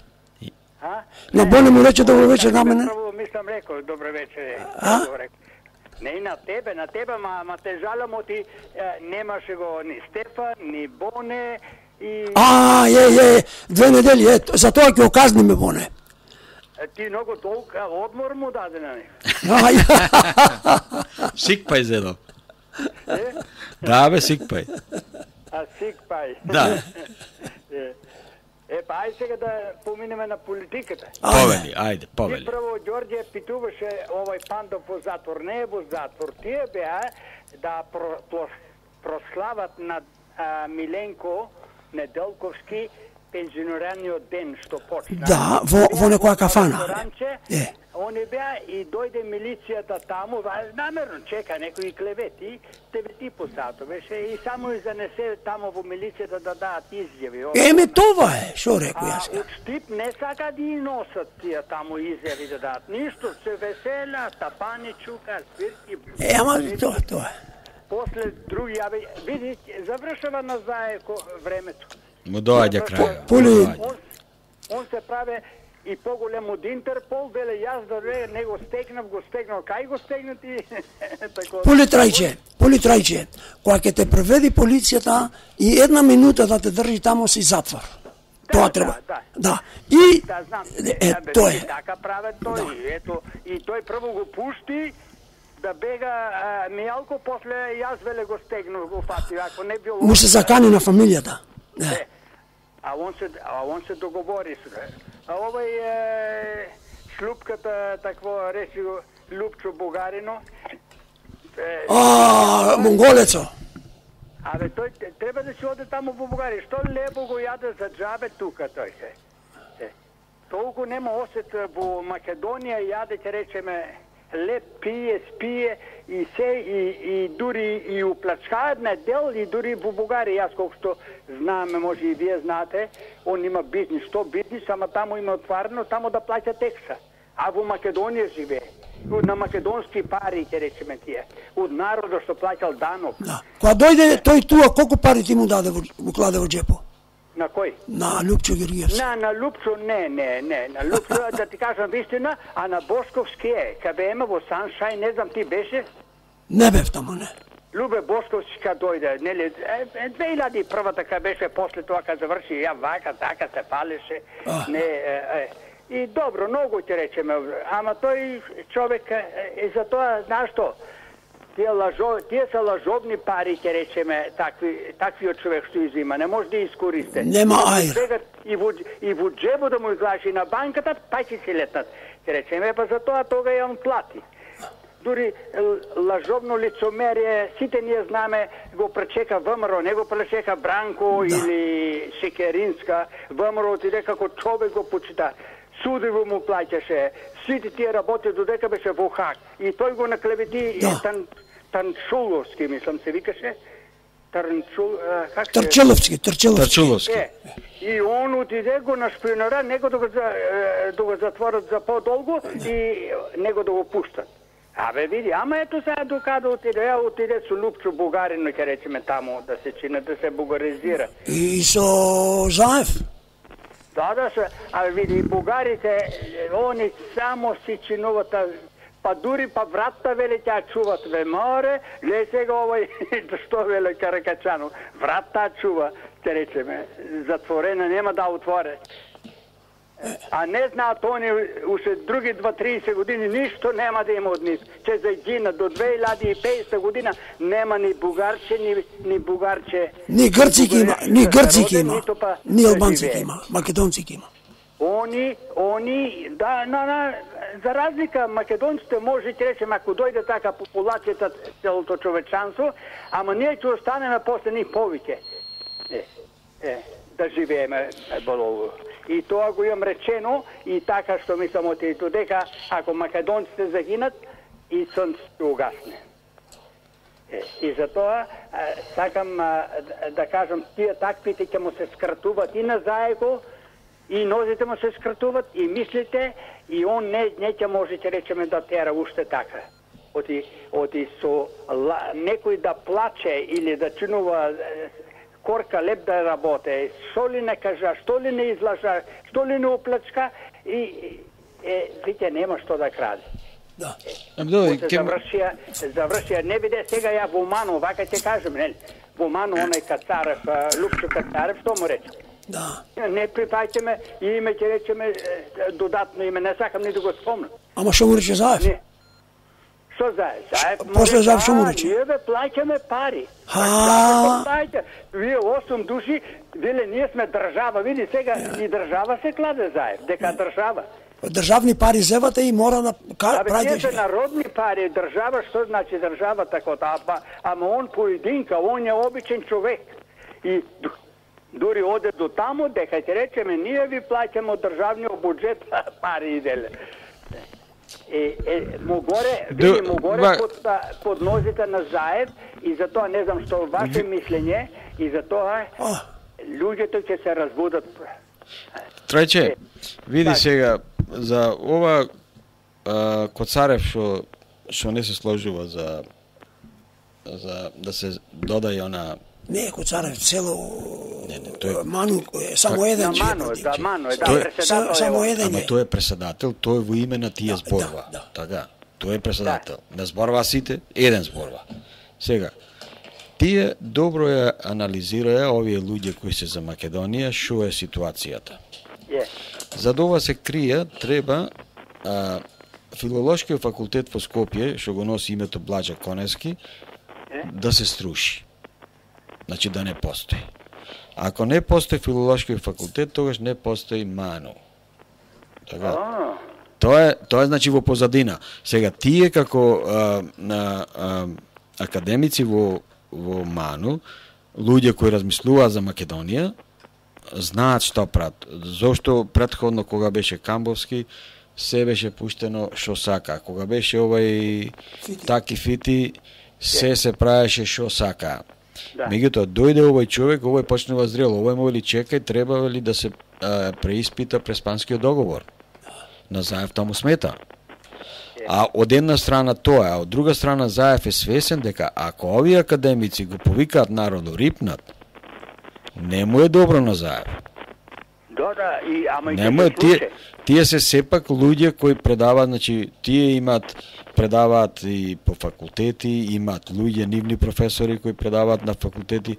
А? На Боне му рече добро вечер, на мене. Прво мислам рекол, добро вечер. А? Не и на тебе, ма те жалам, ти немаше го ни Стефан, ни Боне и Две недели, за тоа ќе оказниме Боне. ти многу толка одмор му даде на него. Сикпај зедо. Да, бе, сикпај. А сикпај. Да. Па ај сега да поминеме на политиката. Повели, ајде, Ти повели. прво, Ѓорѓе, питуваше овој Пандов во затвор. Не е во затвор. Тие беа да прослават на Миленко Неделковски пензионираниот ден што почна. Да, во некоја кафана. Е. Они беа и дојде милицијата таму, намерно чека некои клевети, 9 по сато беше и само и занесе таму во милицијата да дадат изјави. Еме тоа е, што рекол јас. Од Штип не сака да и носат тие таму изјави да дадат. Ништо, се весела, тапани, чука, свирки. Ама тоа е. После други, види, завршава назаед времето. Му доаѓа крај. Пули. Он се праве и поголем од Интерпол, веле јас да не го стегнав, кај го стегнати? Пули Трајче, кога ќе те преведи полицијата и една минута да те држи тамо си затвор. Тоа треба. Да. И да, знам. тоа е. Така прават тој. Ето, и тој прво го пушти да бега Мијалко, после јас веле го стегнав, го фати, ако не било. Му се закани на фамилијата. А он се договори се. А овој шлупката такво речи го Лупчо Бугарино. Монголецо. Тој треба да си оде таму во Бугарија. Што лебо го јаде за џабе тука тој се. Толку нема осет во Македонија јаде, ќе речеме, леп пие, спие и се и дури и уплачкаат на дел и дури во Бугарија, јас колку што знаме, може и вие знаете, он има бизнис, што бизнис, ама таму има отварено, таму да плаќа текса. А во Македонија живее. На македонски пари, ќе речеме тие. Од народот што плаќал данок. Да. Кога дојде тој туа, колку пари ти му даде во кладе во џепо? На кој? На Лупчо Георгиевски. На Лупчо не. На Лупчо, да ти кажам вистина, а на Бошковски е. Кабе ема во Саншај, не знам ти беше? Не бев тамо, не. Любе Бошковски ка дојде, нели, 2001-та ка беше, после тоа ка заврши, ја вака, така се палеше, и добро, многу ќе речеме, ама тој човек, и за тоа, знаеш што, тие се лажовни пари, ќе речеме, таквиот човек што изима, не може да искористе. Нема ајр. И во джебо да му излажи на банката, па ќе се летнат. Ќе речеме, па за тоа тога ја он плати. Дури лажовно лицомерие, сите ние знаме, го пречека ВМРО, не го пречека Бранко или Шекеринска. ВМРО отиде како човек го почита. Судиво му плаќаше, сите тие работи додека беше во Хаг. И тој го наклевети Танчуловски, мислам се викаше. Трчеловски. И он отиде го нашпионира, него да го затворат за подолго и него да го пуштат. Види, ама ето сега докада отиде со Лупчо Бугарино, ќе речеме таму, да се чина, да се бугаризира. И со Заев? Да, види, бугарите, они само си чинуват, па дури па вратта веле ќе чуват ве море, гледа сега овој, што веле Каракачанов, вратта чува, ќе речеме, затворена, нема да отворе. А не знаат они уште други 2-30 години ништо нема да има од нив. Че загина до 2050 година нема ни бугарче, ни бугарче. Ни грци ќе има, ни албанци ќе има, македонци ќе има. Они, да, за разлика македонците може ќе речеме, ако дојде така популацијата целото човечанство, ама ние ќе останеме после нив повеќе. Да живееме болово. и тоа го имам речено и така што мислам од и дека ако македонците загинат и сонцето ќе угасне. И затоа сакам да кажам тие таквите ќе му се скратуваат и на заего и нозите му се скратуваат и мислите и он не ќе може ќе речеме да тера уште така. Оти со некој да плаче или да чинува корка леп да работе, што ли не кажа, што ли не излажа, што ли не оплачка и веќе нема што да краде. Да. Завршија, не биде сега ја во Мано, вака ќе кажем, нели? Во Мано онај Кацарев, Лупчо Кацарев, што му рече? Да. Не припајте ме и име ќе речеме додатно име, не сакам ни да го спомнам. Ама што му рече Заев? Не. Што Заев? Заев После Заев што му рече? Ние бе плаќаме пари. Вие 8 души, виле ние сме држава, види сега и држава се кладе Заев, дека држава. Државни пари зевате и мора да прави. Тие се народни пари, држава, што значи држава тако, ама он поединка, он е обичен човек. И дури оде до таму, дека ќе речеме, ние ви плаќаме од државниот буџет пари иделе. Му горе под нозите на Заев и затоа не знам што ваше мислење и затоа луѓето ќе се разбудат. Трајче, види сега за ова Коцарев што не се сложува за да се додаде она. Не, Коцарев цело Ману само еден председател. Само еден. Ама тој е председател, тој во име на тие зборува. Така, тој е председател. Не зборува сите, еден зборува. Сега, тие добро ја анализираја овие луѓе кои се за Македонија, што е ситуацијата. За да ова се крие, треба Филолошкиот факултет во Скопје, што го носи името Блаџа Конески, да се струши. Значи да не постои. Ако не постои Филолошкиот факултет, тогаш не постои МАНУ. Така. Тоа е значи во позадина. Сега тие како академици во МАНУ, луѓе кои размислуваат за Македонија, знаат што прават. Зошто претходно кога беше Камбовски се беше пуштено што сака. Кога беше овај Таки Фити се правеше што сака. Меѓутоа дојде овој човек, овој почнува зрело, овој му вели чекај, треба ли да се преиспита Преспанскиот договор. На Заев таму смета. А од една страна тоа, а од друга страна Заев е свесен дека ако овие академици го повикаат народу рипнат, не му е добро на Заев. Ама тие се сепак луѓе кои предаваат, значи тие предаваат и по факултети, имаат луѓе, нивни професори кои предаваат на факултети.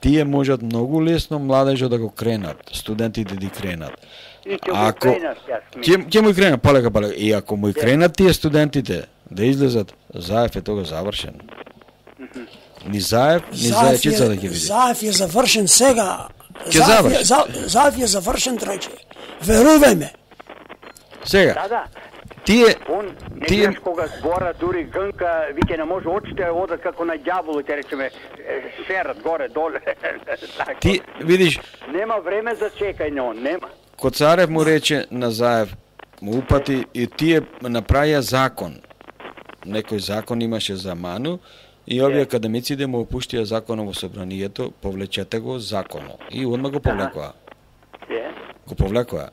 Тие можат многу лесно младежот да го кренат, студентите да кренат. Ќе му кренат полека. И ако му кренат тие студентите да излезат, Заев е тога завршен. Ни Заев, ни Заевчица да ќе види. Заев е завршен сега. Заев е завршен, Трајче. Верувај ме. Сега. Не знаеш кога збора, дури гънка, вике не може очите одат како на ѓаволот, ќе речеме, шерат горе, доле. Ти, видиш... Нема време за чекање, он, нема. Коцарев му рече на Заев, му упати и тие направија закон. Некој закон имаше за МАНУ и овие академици да му опуштија законот во собранието, повлечете го законот. И одма го повлекоа. Го повлекоа.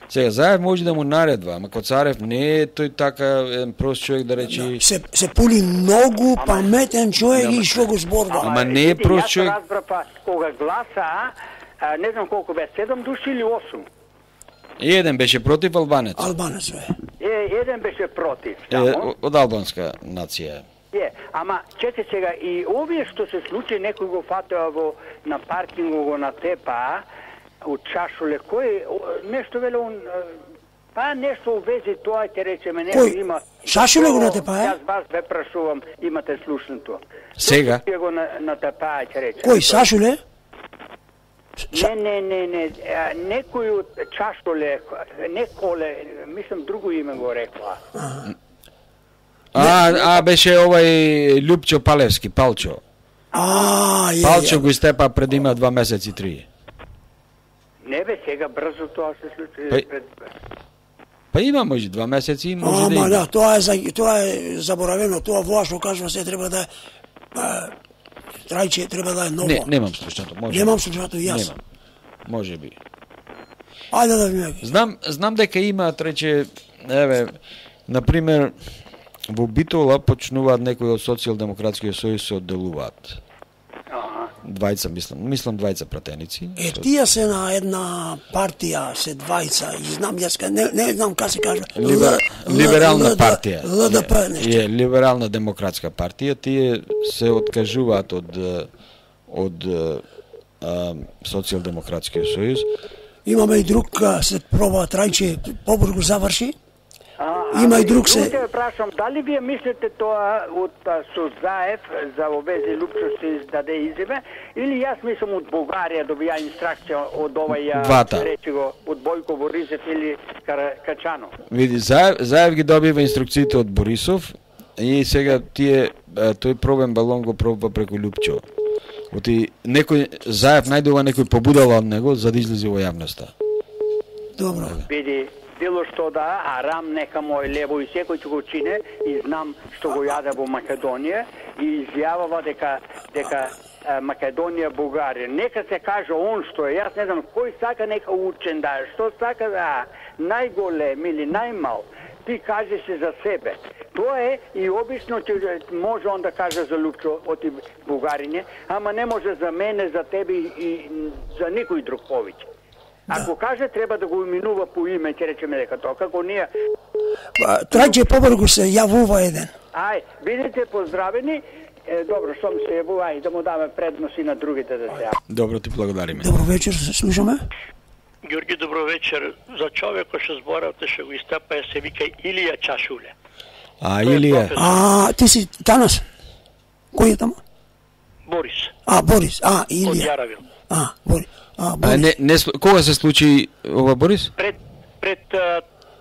Сега Заев може да му наредва, ама Коцарев не е тој така прост човек да речи... Се пули многу паметен човек и што го зборува. Ама не е прост човек. Јас разбрав кога гласа, не знам колку бе, 7 души или 8? Еден беше против Албанец. Албанец бе. Еден беше против. Од албанска нација. Ама чете сега и овие што се случи, некој го фатеа на паркингу го натепа, од Чашуле, кој нешто веле он нешто увези тоа ќе речеме некој има. Шашуле го натепа, Јас вас ве прашувам, имате слушнато. Сега ќе го натепа, ќе речеме. Кој Шашуле? Не, некој од Чашуле, неколе, мислам друго име го рекла. Беше овај Љупчо Палевски, Палчо. Палчо го истепа пред има 2 месеци 3. Не бе, сега брзо тоа се случи Па- пред... Па има може 2 месеци и може да Ама има. да, тоа е заборавено, тоа во што кажува се треба да е Трајче треба да е ново. Не, немам слушнато, може. Немам слушнато и јас. Немам. Може би. Ајде да видиме. Знам дека има трече, еве, на пример во Битола почнуваат некои од Социјалдемократскиот сојуз се одделуваат. Двајца мислам двајца пратеници. Тие се на една партија, се двајца, и знам јас, не знам како се кажа. Либерална партија. ЛДП нешто. Е, либерална демократска партија, тие се откажуваат од Социјалдемократскиот сојуз. Имаме и друг, се проба Трајче побрзо заврши. Има и друг се. Те прашам, дали вие мислите тоа од Сузаев за овези Лупчо се издаде изјаве, или јас мислам од Бугарија добија инстракција од Двата. речи го, од Бојко Борисов или Качанов? Види, Заев ги добива инструкциите од Борисов и сега тој пробен балон го пробва преку Лупчо. Оти некој Заев најдува некој побудала од него за да излезе во јавноста. Добро. Види, било што да, арам нека мој лево и секој ќе го чине и знам што го јаде во Македонија и изјавува дека Македонија Бугарија. Нека се каже он што е, јас не знам кој сака нека учен да е, што сака да најголем или најмал. Ти кажеш се за себе. Тоа е и обично ќе може он да каже за Лупчо од Бугариње, ама не може за мене, за тебе и за никој друг повеќе. Ако каже треба да го именува по име, ќе речеме дека тоа како ние. Трајче побрзо се јавува еден. Ај, бидете поздравени. Добро, што ми се јавува, ај да му даме предност и на другите да се јават. Добро, ти благодариме. Добро вечер, се слушаме. Ѓорги, добро вечер. За човекот што зборавте што го истапа се вика Илија Чашуле. Илија. Ти си Танас? Кој е таму? Борис. Борис. Од Илија. Јаравил. Борис. Борис. Кога се случи ова, Борис? Пред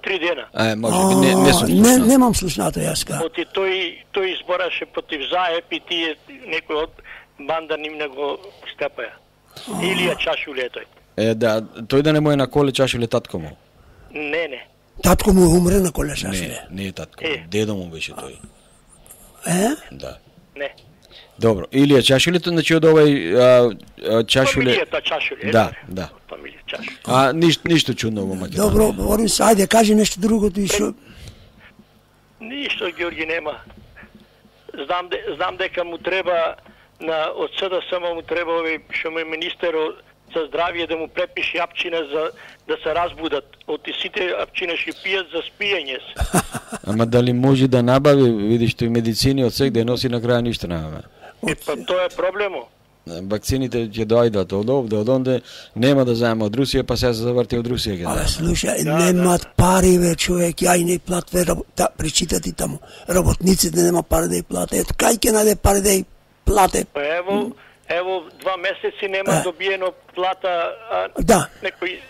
3 дена. Може би не сум слушнал. Немам слушнато јас ка. Оти тој избораше против Заев и тие некој од банда нивна го стапаја. Илија Чашуле е тој. Да, тој да не му е на коле Чашуле татко му. Не. Татко му умре на коле Чашуле. Не е татко. Дедо му беше тој. Да. Не. Добро, Илија Чашулето, значи од овај Чашуле. Фамилијата Чашуле. Да. Фамилија Чашуле. Ништо чудно во Македонија. Добро, Борис, ајде кажи нешто друго ти што. Ништо, Ѓорги, нема. Знам дека му треба од СДСМ му треба овој што му е министер за здравје да му препише апчина за да се разбудат. Од сите апчина што пијат за спиење се. Ама дали може да набави, видиш тој медицини од секде носи на крај ништо нема. Па тоа е проблемо. Вакцините ќе доајдат од овде, од онде, нема да заема од Русија, па сега се заврти од Русија. Слушај, немат пари ве човек, ја и не платве, причитати таму. Работниците нема пари да ја платат. Кај ќе најде пари да ја платат? Па ево 2 месеци нема добиено плата некои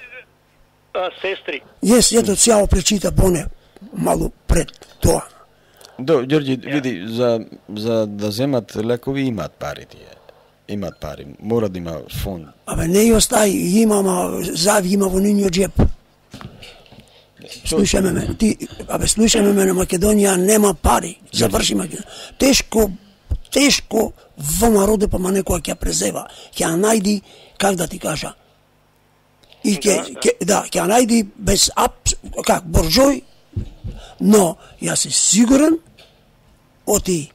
сестри. Ето цяло пречита поне малу пред тоа. Ѓорѓи, види, за да земат лекови имаат пари тие. Имаат пари, мора да има фонд. Не ја остај, има, Заев има во нивниот джеп. Слушаме ме, слушаме ме, на Македонија нема пари. Заврши Македонија. Тешко ВМРО ДПМН некоја ќе презева, ќе најди, как да ти кажа, и ќе најди без борџој, но јас се сигурен оти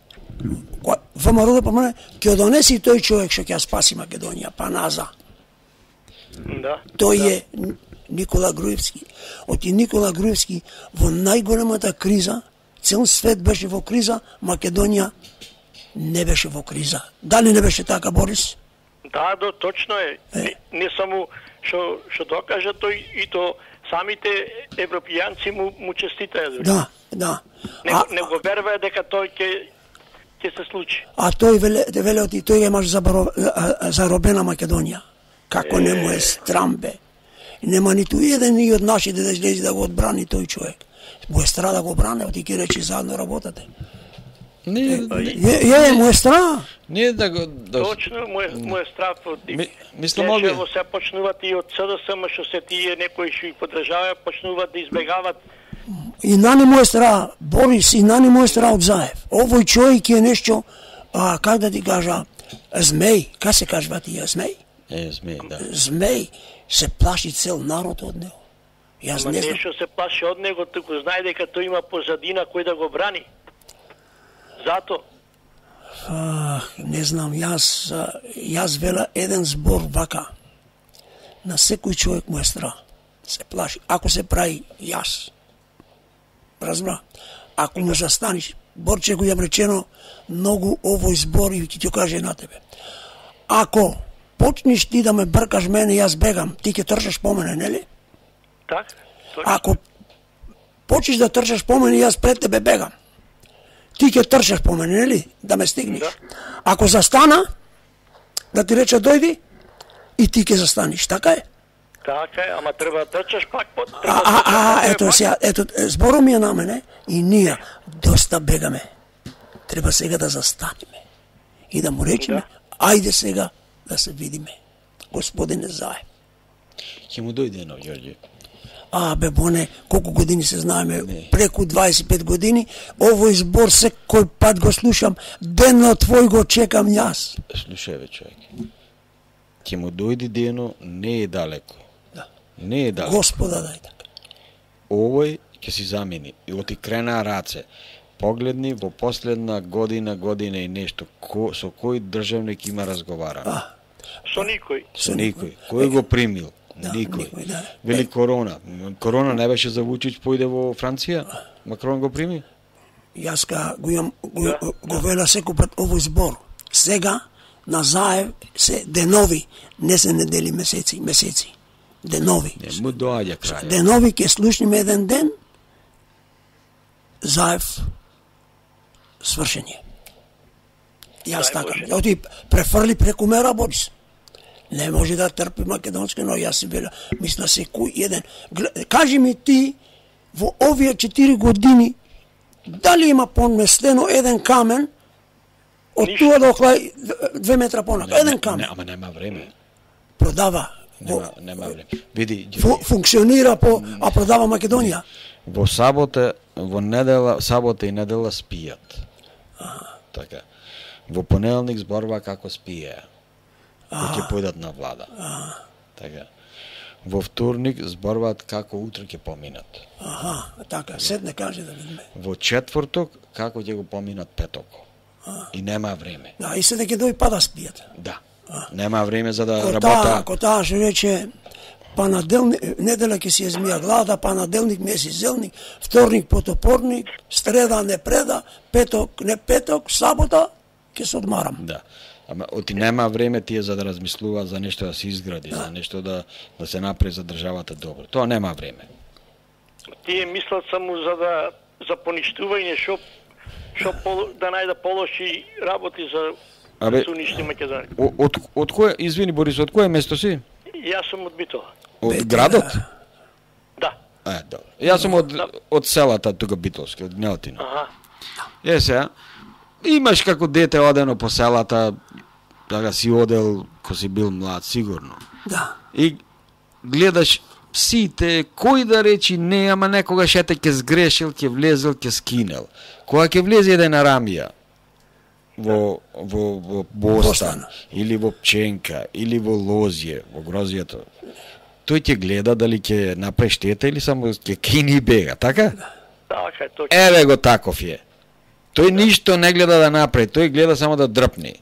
ВМРО ДПМН ќе донеси тој човек што ќе спаси Македонија, Паназа. Да. Тој е Никола Груевски. Оти Никола Груевски во најголемата криза, цел свет беше во криза, Македонија не беше во криза. Дали не беше така, Борис? Да, точно е. Не само што докажа тој и то самите европијанци му честитаја дури. Да. Не го верува дека тој ќе се случи. А тој веле оти тој имаш заробена Македонија. Како не му е страмбе. Нема ниту еден и од нашите да излези да го одбрани тој човек. Му е страда да го бране, оти ќе речи заедно работате. Не, му е страна. Не да го... Да... Точно, мој страв од мислам овие... Во се почнуваат и од СДСМ, што се тие некои што ги поддржаваат, почнуваат да избегават. И нани мој страа, Борис, и нани мој страа од Заев. Овој човек е нешто, как да ти кажа, змеј, как се кажува тие, змеј? Змеј, да. Змеј, се плаши цел народ од него. Јас Ама не знам. нешто се плаши од него, туку знае дека тој има позадина кој да го брани. Зато. Не знам, јас вела еден збор вака. На секој човек му е страх. Се плаши. Ако се прави јас. Разбра? Ако му застаниш, Борче го јам речено многу овој збор и ќе ти каже на тебе. Ако почнеш ти да ме бркаш мене, јас бегам, ти ќе трчаш по мене, нели? Так? Ако почнеш да трчаш по мене, јас пред тебе бегам. Ти ќе трчаш по мене, нели? Да ме стигнеш. Да. Ако застана, да ти рече дојди, и ти ќе застанеш, така е? Така е, ама треба да трчаш пак под... Ето сега, ето, зборот ми е на мене и ние доста бегаме. Треба сега да застанеме и да му речеме, ајде сега да се видиме. Господине Заев. Ќе му дојде едно, Ѓорѓе. Бе, боне, колку години се знаеме, преку 25 години, овој збор секој пат го слушам, денно твој го чекам јас. Слушај, бе, човек. Ќе му дојде дено, не е далеко. Да. Не е далеко. Господа дај така. Овој ќе си замени. И оти крена раце. Погледни во последна година и нешто, со кој државник има разговарано. Со никој. Со никој. Кој го примил? Никој. Да. Вели Корона. Корона не беше за Вучич, појде во Франција? Макрон го прими? Јас го вела секој пат овој збор. Сега на Заев се денови, не се недели, месеци. Денови. Не му доаѓа крај. Денови ќе слушнеме еден ден, Заев свршење. Јас така. Оти префрли преку мера, Борис. Не може да трпи македонски, но јас си била, мисля секој еден. Кажи ми ти, во овие 4 години, дали има поместено еден камен, од туа до оклај 2 метра понака, еден камен. Ама нема време. Продава. Нема време. Види, функционира а продава Македонија. Во сабота и недела спијат. Така. Во понеделник зборува како спиеа. Ќе појдат на влада. Така. Во вторник зборуваат како утре ќе поминат. Така, седне каже да видиме. Во четврток како ќе го поминат петоко. И нема време. Да, и седне ќе дојде па да спијат. Да. Нема време за да работа. Ако таа што рече неделя ќе си измија глада, панеделник месец зелник, вторник потопорник, среда не преда, петок не петок, сабота ќе се одмарам. Да. Ама оти нема време тие за да размислуваат за нешто да се изгради, за нешто да се направи за државата добро. Тоа нема време. Тие мислат само за поништување, што да најде полоши работи за да се уништи Македонија. Од кое, извини Борис, од кое место си? Јас сум од Битола. Од градот? Да. Добро. Јас сум од селата тука Битолски, од Гнеотина. Сега, имаш како дете одено по селата, така си одел ко си бил млад, сигурно. Да. И гледаш сите, кој да речи не, ама некогаш ете ќе сгрешил, ќе влезел, ќе скинел. Кога ќе влезе еден Арамија во Бостан, или во Пченка, или во Лозје, во Грозијето, тој ќе гледа дали ќе направи штета или само ќе кини и бега, така? Така е, точно. Еве го таков е. Тој ништо не гледа да направи, тој гледа само да дрпни.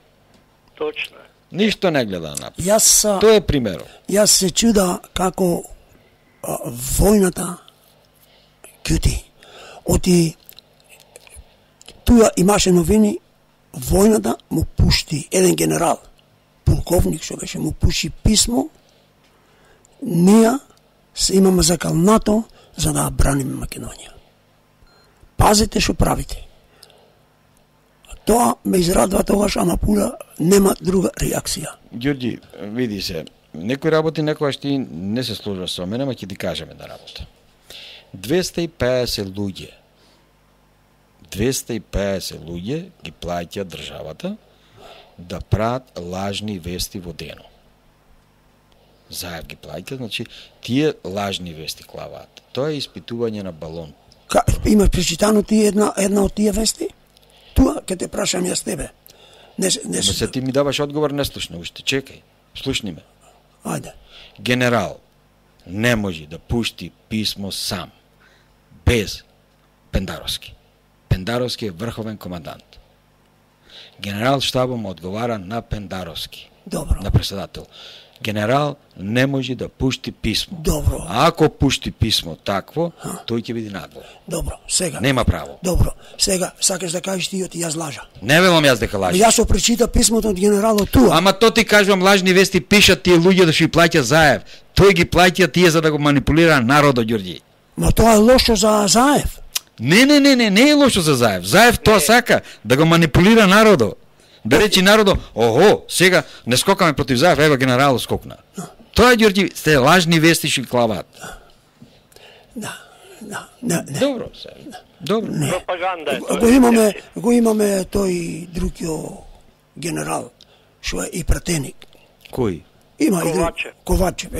Точно. Ништо не гледа да направи. Тоа е примерот. Јас се чуда како војната кјути. Оти туја имаше новини, војната му пушти еден генерал, полковник што беше, му пуши писмо, ние се имаме закалнато за да браниме Македонија. Пазите што правите. Тоа ме израдува тогаш, ама пула нема друга реакција. Ѓорѓи, види се, некои работи некогаш ти не се сложува со мене, ама ќе ти кажеме на работа. 250 луѓе ги плаќа државата да прават лажни вести во дено. Заев ги плаќа, значи тие лажни вести клаваат. Тоа е испитување на балон. Има причитано ти една од тие вести? Туа ќе те прашам јас тебе. Не се ти ми даваш одговор, не слушна уште. Чекај, слушни ме. Ајде. Генерал не може да пушти писмо сам, без Пендаровски. Пендаровски е врховен командант. Генерал штабом одговара на Пендаровски. Добро. На председател. Генерал не може да пушти писмо. Добро. А ако пушти писмо такво, тој ќе биде надвор. Добро, сега. Нема право. Добро, сега сакаш да кажеш ти јас лажа. Не велам јас дека лажи. Јас прочита писмото од генералот туа. Ама то ти кажувам, лажни вести пишат тие луѓе да што ги плаќа Заев. Тој ги плаќа тие за да го манипулира народот, Ѓорѓи. Ма тоа е лошо за Заев. Не е лошо за Заев. Заев тоа сака да го манипулира народот. Да речи народот, охо, сега не скокаме против Заев, ева генералот скокна. Тоа, Ѓорѓи, сте лажни вести што клават. Да. Добро, сега. Добро. Пропаганда е тоа. Го имаме тој другиот генерал, што е и пратеник. Кој? Има Ковачев.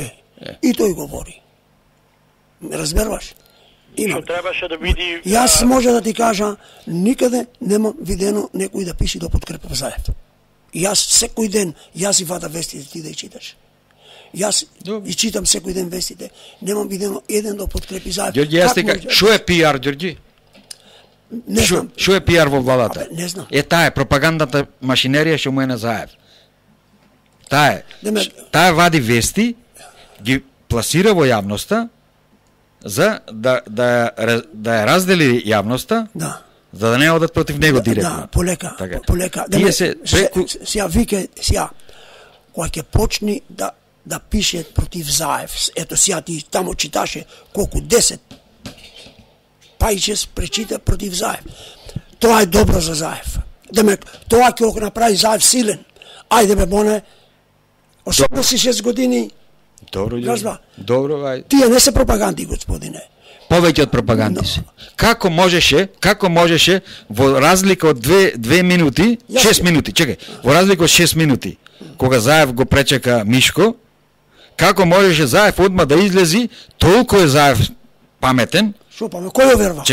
И тој говори. Разберваш? Што требаше да види... Јас може да ти кажа, никаде нема видено некој да пише да подкрепа Заев. Јас секој ден, јас и вада вестите ти да ја читаш. Јас и читам секој ден вестите, немам видено еден да подкрепи Заев. Ѓорѓи, јас дека, што е пиар, Ѓорѓи? Не знам. Што е пиар во владата? Не знам. Таа е пропагандата машинерија што му е на Заев. Таа вади вести, ги пласира во јавноста, за да ја раздели јавноста, за да не одат против него директно. Да, полека. Тие се сега вике, кога ќе почни да пише против Заев, ето сега ти тамо читаше колку 10 пајчес пречита против Заев. Тоа е добро за Заев. Демек, тоа ќе го направи Заев силен. Ајде бе, боне, 86 години. Добро, ајде. Тие не се пропаганди, господине. Повеќе од пропаганди се. Како можеше во разлика од 2 минути, 6 минути, чекај, во разлика од 6 минути, кога Заев го пречека Мишко, како можеше Заев одма да излези, толку е Заев паметен. Шо памет, кој го верва?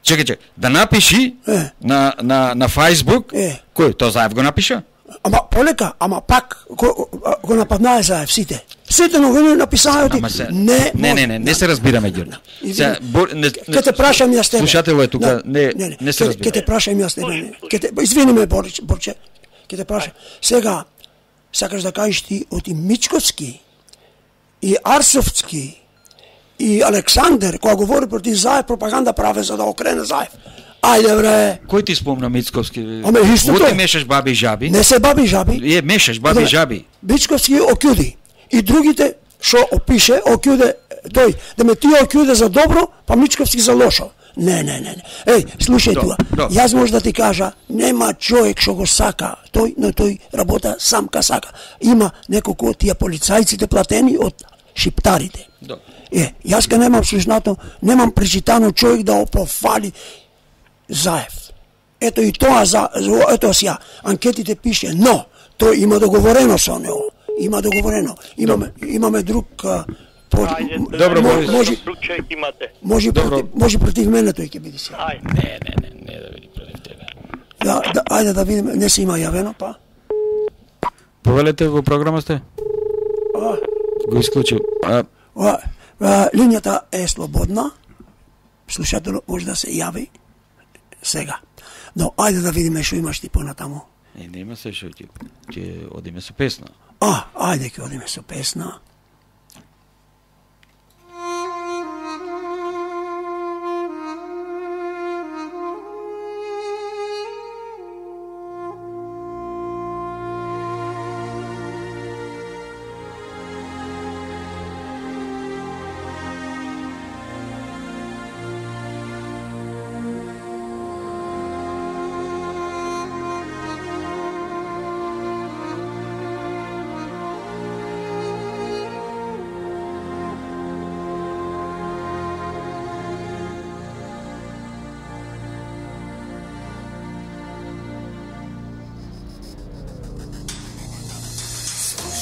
Чекај, да напиши на Facebook, кој, тоа Заев го напиша? Ама полека, ама пак го нападнае Заев сите. Сите новини написаат не се разбираме, Ѓорѓе. Ке те прашам јас тебе. Слушателот е тука, не се разбираме. Ке те прашам јас тебе. Извини ме, Борче. Ке те прашам. Сега сакаш да кажеш ти од и Мичковски и Арсовски и Александер кога говори против Заев, пропаганда праве за да окрене Заев. Ајде бре. Кој ти спомна Мицковски? Аме истото. Ти мешаш баби и жаби? Не се баби и жаби. Мешаш баби и жаби. Мицковски окјуди. И другите што опише окјуде тој. Да ме тие окјуде за добро, па Мичковски за лошо. Не. Слушај туа. Јас може да ти кажа, нема човек што го сака тој, но тој работа сам ка сака. Има неколку од тие полицајците платени од шиптарите. Јас ка немам слушнато, немам пречитано човек да опофали Заев. Ето и тоа ето сега анкетите пише, но тој има договорено со него. Има договорено. Имаме друг добро, може против мене тој ќе биде сега. Не да биде против тебе. Ајде да видиме, не се има јавено, па. Повелете во програма сте? Го исклучи. Линијата е слободна. Слушателот може да се јави сега. Но ајде да видиме што имаш ти понатаму. Нема се што ќе одиме со песна. Ајде ќе одиме со песна.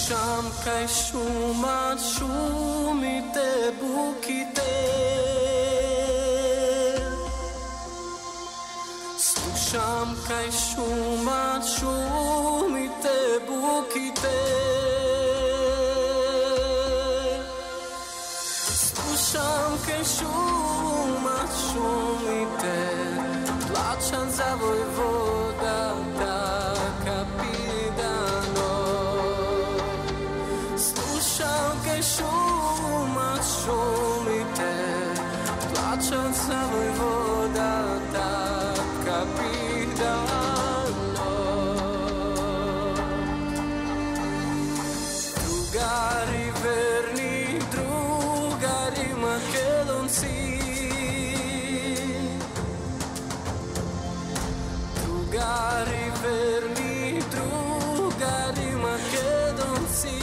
Слушам кај шумат шумите, буките. Слушам кај шумат шумите, буките. Слушам кај шумат шумите, плачам за војводата Капидано. Слушам кај шумат шумите, плачам за војводата Капидано. Другари верни, другари македонци, другари верни, другари македонци,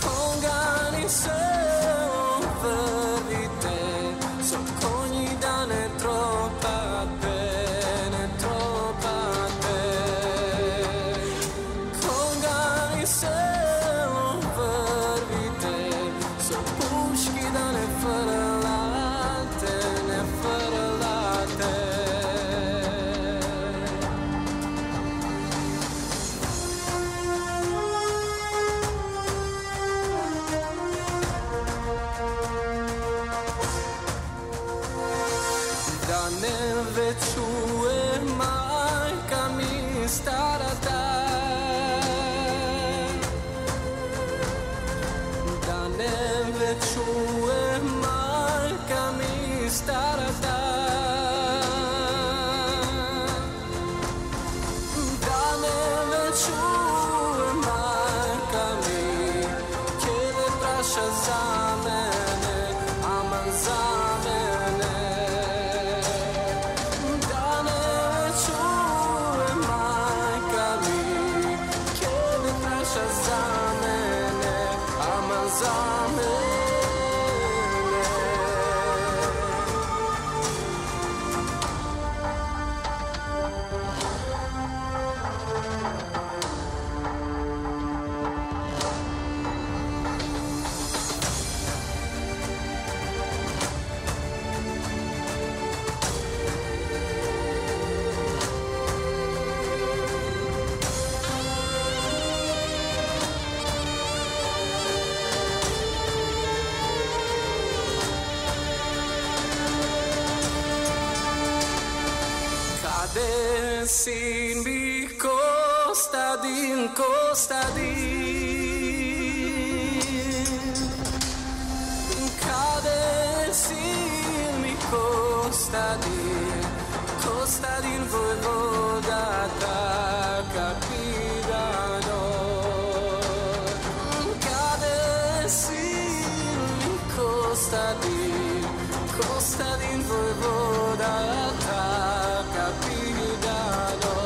кога ни се обврвите, со коњи да не тропате, не тропате. Кога ни се обврвите, со пушки да не фрлате, не фрлате. Да не ве чуе мајка ми старата, да не ве чуе мајка ми старата, да не ве чуе мајка ми, ќе ве праша за мене, аман за мене. Да не ве чуе мајка ми, ќе ве праша за мене, аман за мене. Каде син ми Костадин, Костадин? Каде син ми Костадин, Костадин војводата Капидано? Каде син ми Костадин, Костадин војводата Капидано?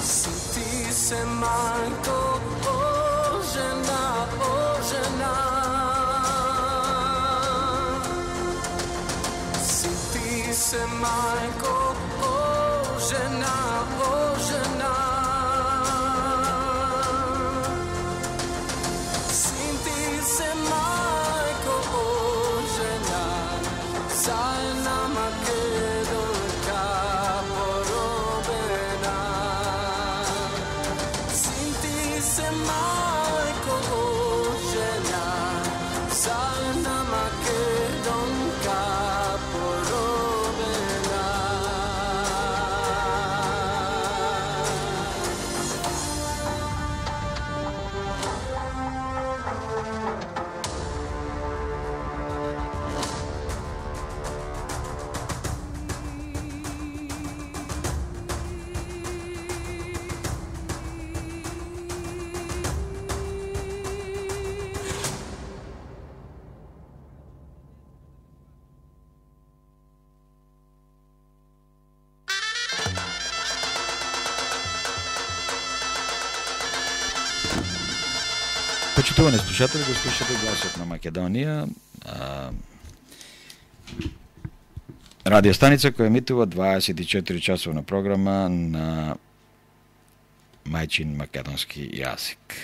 Си ти се мајко, о жена, о жена. Си ти се мајко, о жена, о жена. Си ти се мајко, о жена, за една македонка поробена. Син ти се мајко, о жена, за една македонка поробена. Почитувани слушатели, го слушате Гласот на Македонија. радиостаница која емитува 24 часовна програма на мајчин македонски јазик.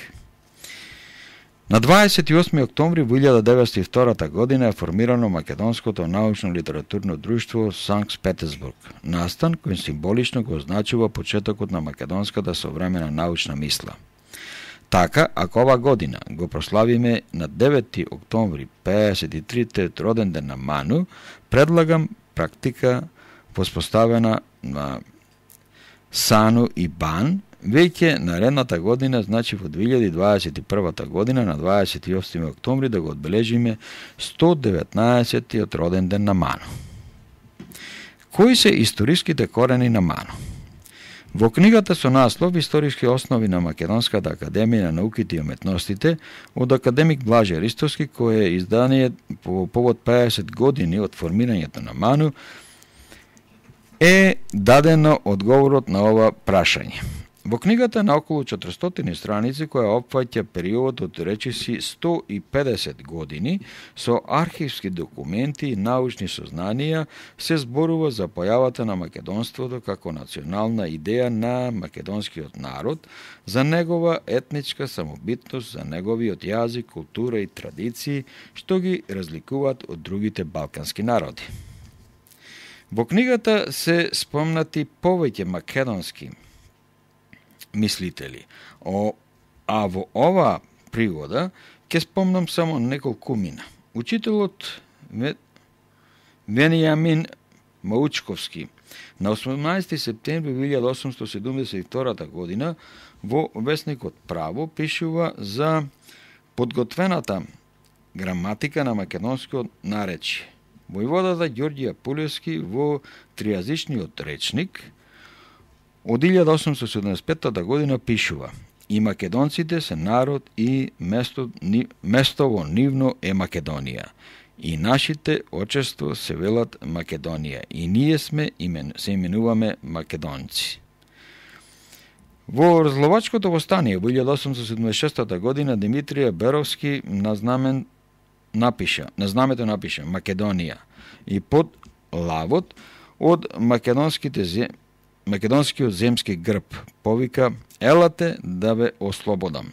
На 28. октомври во 1902 година е формирано Македонското научно-литературно друштво Санкт Петерсбург, настан кој символично го означува почетокот на македонската современа научна мисла. Така, ако ова година го прославиме на 9. октомври 53-тиот роден ден на Ману, предлагам практика воспоставена на Сану и Бан, веќе наредната година, значи во 2021 година, на 28. октомври, да го одбележиме 119-тиот роден ден на Ману. Кои се историските корени на Ману? Во книгата со наслов «Историски основи на Македонската академија на науките и уметностите» од академик Блаже Ристовски, кое е издание по повод 50 години од формирањето на Ману, е дадено одговорот на ова прашање. Во книгата на околу 400 страници, која опфаќа период од речиси 150 години, со архивски документи и научни сознанија, се зборува за појавата на македонството како национална идеја на македонскиот народ, за негова етничка самобитност, за неговиот јазик, култура и традиции, што ги разликуваат од другите балкански народи. Во книгата се спомнати повеќе македонски мислители, а во ова пригода ќе спомнам само неколкумина. Учителот Венијамин Маучковски на 18. септември 1872 година во весникот Право пишува за подготвената граматика на македонскиот наречје. Војводата Ѓорѓе Пулевски во тријазичниот речник од 1875 година пишува: и македонците се народ и место нивно е Македонија. И нашите очество се велат Македонија. И ние се именуваме македонци. Во Разловачкото востание во 1876 година Димитрија Беровски на знамето напиша Македонија и под лавот од македонскиот земски грб повика: елате да ве ослободам.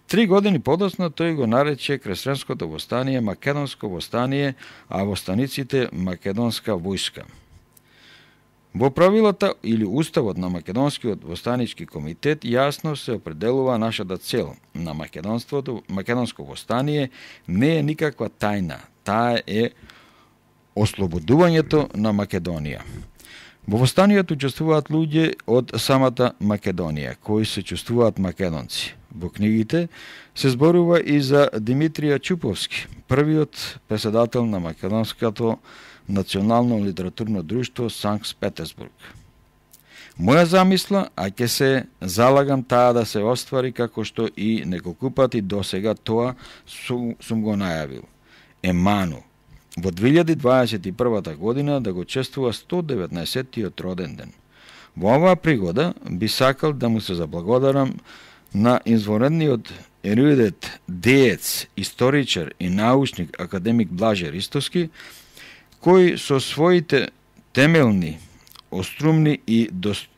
3 години подоцна тој го нарече крестренското востание македонско востание, а востаниците македонска војска. Во правилата или уставот на Македонскиот востанички комитет јасно се определува нашата цел на македонско востание не е никаква тајна, таа е ослободувањето на Македонија. Во востанието учествуваат луѓе од самата Македонија, кои се чувствуваат македонци. Во книгите се зборува и за Димитрија Чуповски, првиот председател на Македонското национално литературно друштво Санкт Петерсбург. Моја замисла, а ќе се залагам таа да се оствари како што и неколку пати досега тоа сум го најавил, е Ману во 2021 година да го чествува 119-тиот роден ден. Во оваа пригода би сакал да му се заблагодарам на извонредниот ерудит, деец, историчар и научник академик Блаже Ристовски, кој со своите темелни, острумни и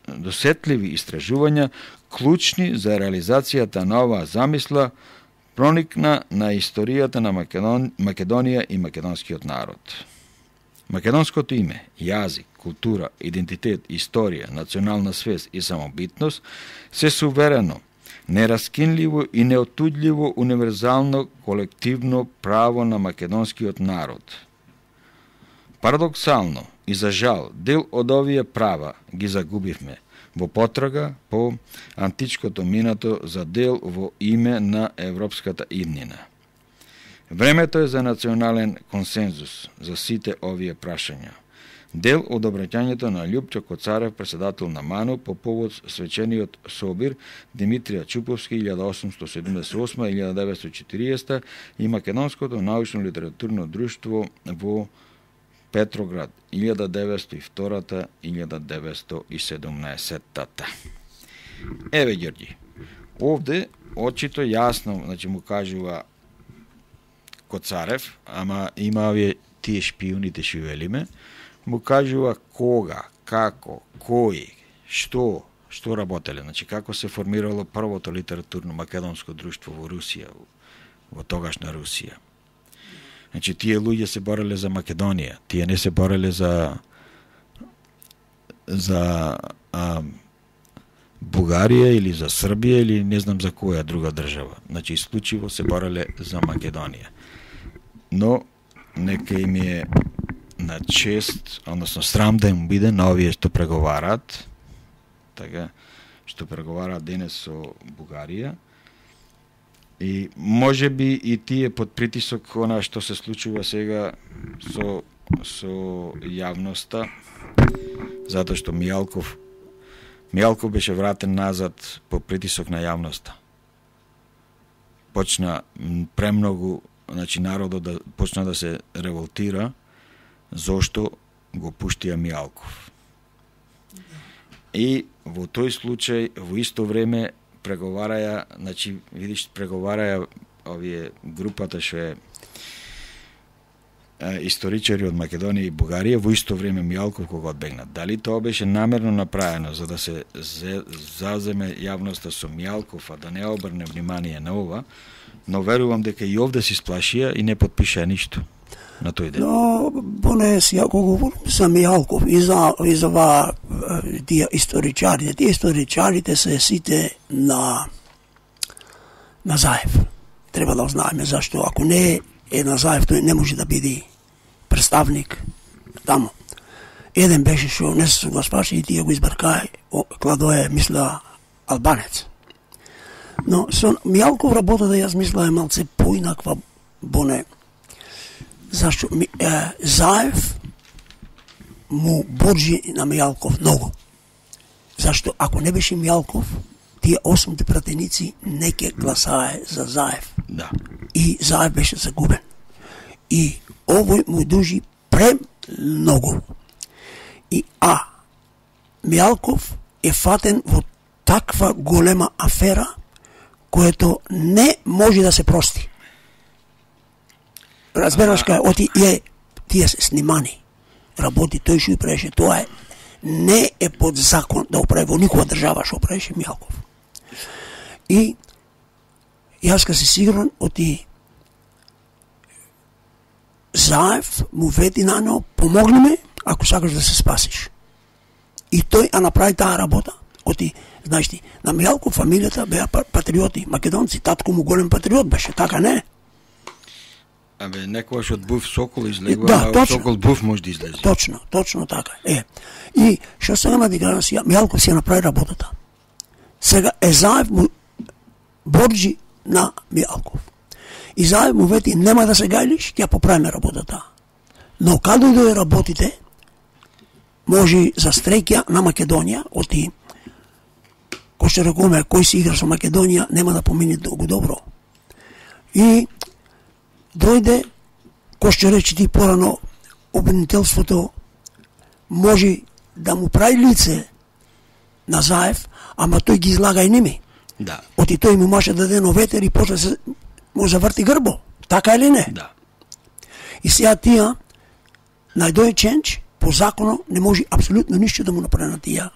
досетливи истражувања, клучни за реализацијата на оваа замисла, проникна на историјата на Македонија и македонскиот народ. Македонското име, јазик, култура, идентитет, историја, национална свест и самобитност се суверено, нераскинливо и неотуѓливо универзално колективно право на македонскиот народ. Парадоксално и за жал, дел од овие права ги загубивме во потрага по античкото минато за дел во име на европската иднина. Времето е за национален консензус за сите овие прашања. Дел од обраќањето на Љупчо Коцарев, председател на Ману, по повод свечениот собир Димитрија Чуповски 1878-1940 и Македонското научно-литературно друштво во Петроград 1902-1917. Еве, Ѓорѓи, овде очито јасно, значи му кажува Коцарев, ама има овие тие шпионите што велиме, му кажува кога, како, кој, што работеле, значи како се формирало првото литературно македонско друштво во Русија, во тогашна Русија. Значи тие луѓе се бореле за Македонија, тие не се бореле за Бугарија или за Србија или не знам за која друга држава. Значи исклучиво се бореле за Македонија. Но нека им е на чест, односно срам да им биде на овие што преговараат, така, што преговараат денес со Бугарија. И може би и тие под притисок она што се случува сега со јавноста, затоа што Мијалков беше вратен назад по притисок на јавноста. Почна премногу, значи народот почна да се револтира зошто го пуштија Мијалков. И во тој случај во исто време преговараја, значи видиш преговараја овие групата што е историчари од Македонија и Бугарија, во исто време Мијалков кога одбегнат. Дали тоа беше намерно направено за да се заземе јавноста со Мијалков, а да не обрне внимание на ова, но верувам дека и овде се сплашија и не подпишаа ништо на тој ден. Но, поне сега кога говорим за Мијалков и за тие историчарите се сите на Заев. Треба да знаеме зашто, ако не е на Заев, тој не може да биде представник таму. Еден беше што не се согласуваше и тие го избркај, Кладое мисла албанец. Но со Мијалков работата јас мисла е малце поинаква, боне, зашто Заев му борџи на Мијалков многу. Зашто ако не беше Мијалков, тие 8 пратеници не ке гласае за Заев. Да. И Заев беше загубен. И овој му дужи премногу. И Мијалков е фатен во таква голема афера което не може да се прости. Разбераш кај тие се снимани. Работи тој што преше, тоа не е под закон да оправи во никоја држава што преше Мијалков. И јас ка си сигурен оти Заев му вети на него, помогни ме ако сакаш да се спасиш. И тој направи таа работа. Оти, знаеш ти, на Мијалков фамилијата беа патриоти, македонци, татко му голем патриот беше, така не? Абе, некојаш од Буф Сокол излегува, да, а од Сокол Буф може да излезе. Точно така. И што сега на диграна си, Мијалков си ја направи работата. Сега Заев му борџи на Мијалков. И Заев му вети, нема да се гајлиш, ќе ја поправиме работата. Но каде дојде работите, може за стреќа на Македонија, оти, кој што рекоме, кој си игра со Македонија, нема да помине долго добро. И дојде, кој што рече ти порано, обвинителството може да му прави лице на Заев, ама тој ги излага и ними. Да. Оти тој му може да даде ветер и после се му заврти грбо. Така или не? Да. И сега тија, најдој ченч, по законо не може апсолутно ништо да му направи на тија,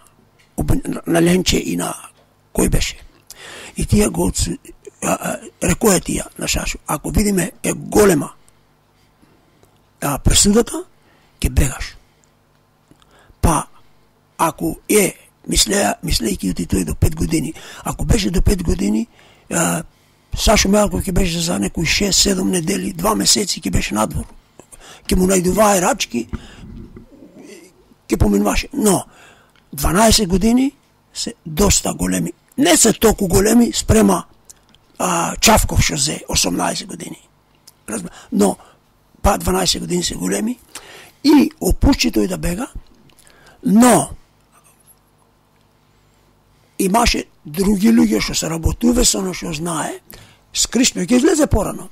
на Ленче и на кој беше. И тија го рекоја тија на Шашо, ако видиме е голема пресудата, ќе бегаш. Па, ако мислејќи оти тој до 5 години, ако беше до 5 години, Сашо Мијалков ќе беше за некои 6-7 недели, 2 месеци ќе беше надвор. Ќе му најдувае рачки, ќе поминуваше. Но, 12 години се доста големи. Не се толку големи спрема Чавков што зе 18 години. Но, 12 години се големи и опушти тој да бега, но имаше други луѓе што се работуве со оно што знае, скришно ќе излезе порано.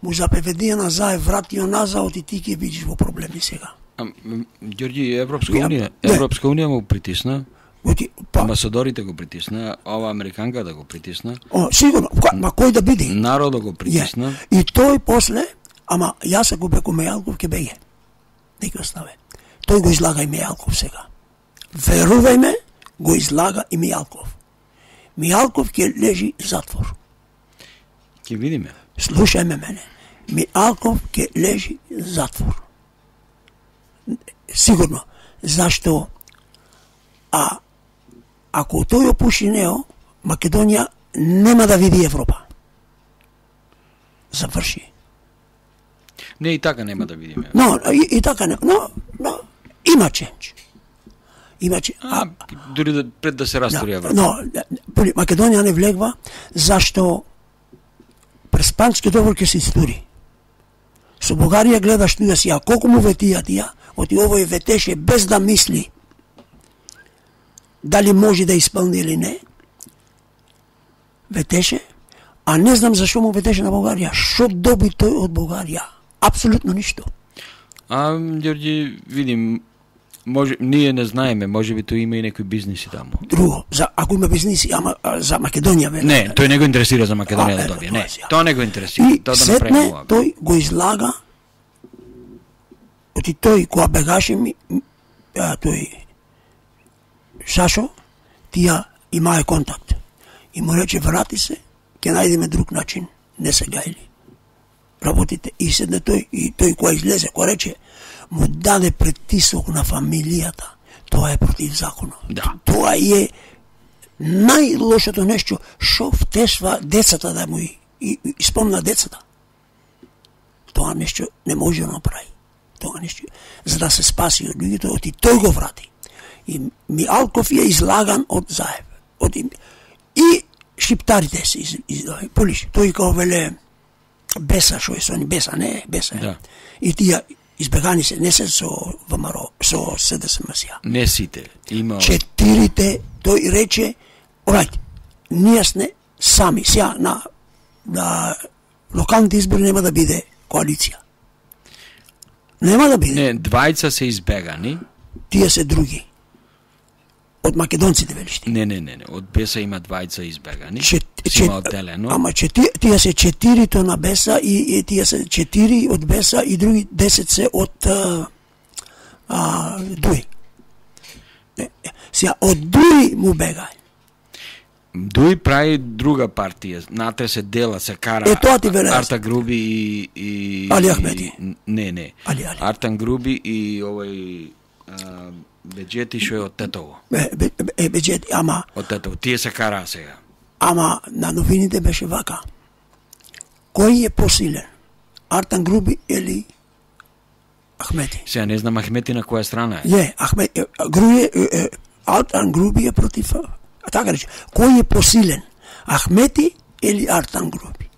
Му запеведија на Заев, вратио назад и ти ќе бидеш во проблеми сега. Ѓорѓи, Европска унија му притисна, амбасадорите го притисна, ова американката го притисна. Сигурно, ма кој да биде? Народот го притисна. И тој после, ама јас ако беко Мијалков ќе беге. Не ќе оставе. Тој го излага и Мијалков сега. Верувај ме, го излага и Мијалков. Мијалков ќе лежи затвор. Ќе видиме. Слушај ме мене. Мијалков ќе лежи затвор. Сигурно. Зашто ако тој опуши него, Македонија нема да види Европа. Заврши. Не, и така нема да видиме. Но, и така не, но има ченч. Има ченч. Дури да, пред да се растори Европа. Но, Македонија не влегва, зашто през Пански договор ќе се истури. Со Бугарија гледаш туја си, а колку му ветија тија, оти овој ветеше без да мисли дали може да исполни или не. Ветеше, а не знам зашо му ветеше на Бугарија. Шо доби тој од Бугарија? Апсолутно ништо. Ѓорѓи, видим, може, ние не знаеме, може би тој има и некои бизниси таму. Друго, ако има бизниси, ама за Македонија вели. Не, тој не го интересира за Македонија да добие. Не, тоа не го интересира. И Тоа да сетне направи ова. тој го излага, оти тој кога бегаше тој Сашо, тија имае контакт. И му рече, врати се, ќе најдеме друг начин, не се гајли. Работите. И седне тој, и тој која излезе, која рече, му даде притисок на фамилијата. Тоа е против законот. Да. Тоа е најлошото нешто, шо втешва децата да му и спомна децата. Тоа нешто не може да направи. Тоа нешто, за да се спаси од луѓето, оти тој го врати. И Мијалков е излаган од Заев. И шиптарите се излаган. Полиш, тој као веле Беса, шо е со ни Беса, не Беса. Да. И тие избегани се, не се со ВМРО, со СДСМ-сија. Не сите. Има... Четирите, тој рече, орајте, ние сме сами, сега на локалните избори нема да биде коалиција. Нема да биде. Не, двајца се избегани. Тие се други. Од македонците велиш ти. Не. Од Беса има двајца избегани. Има одделено. Ама тие се четирито на Беса и тие се 4 од Беса и други 10 се од Дуј. Сега од Дуј му бега. Дуј прави друга партија. Натре се дела, се кара. Тоа ти веле. Арта Груби и Али Ахмети. Не. Али. Артан Груби и овој Беџети што е од Тетово. Беџети, ама... Од Тетово. Тие се караа сега. Ама на новините беше вака. Кој е посилен? Артан Груби или Ахмети? Сега не знам Ахмети на која страна е. Не, Артан Груби е против... Така рече, кој е посилен? Ахмети или Артан Груби?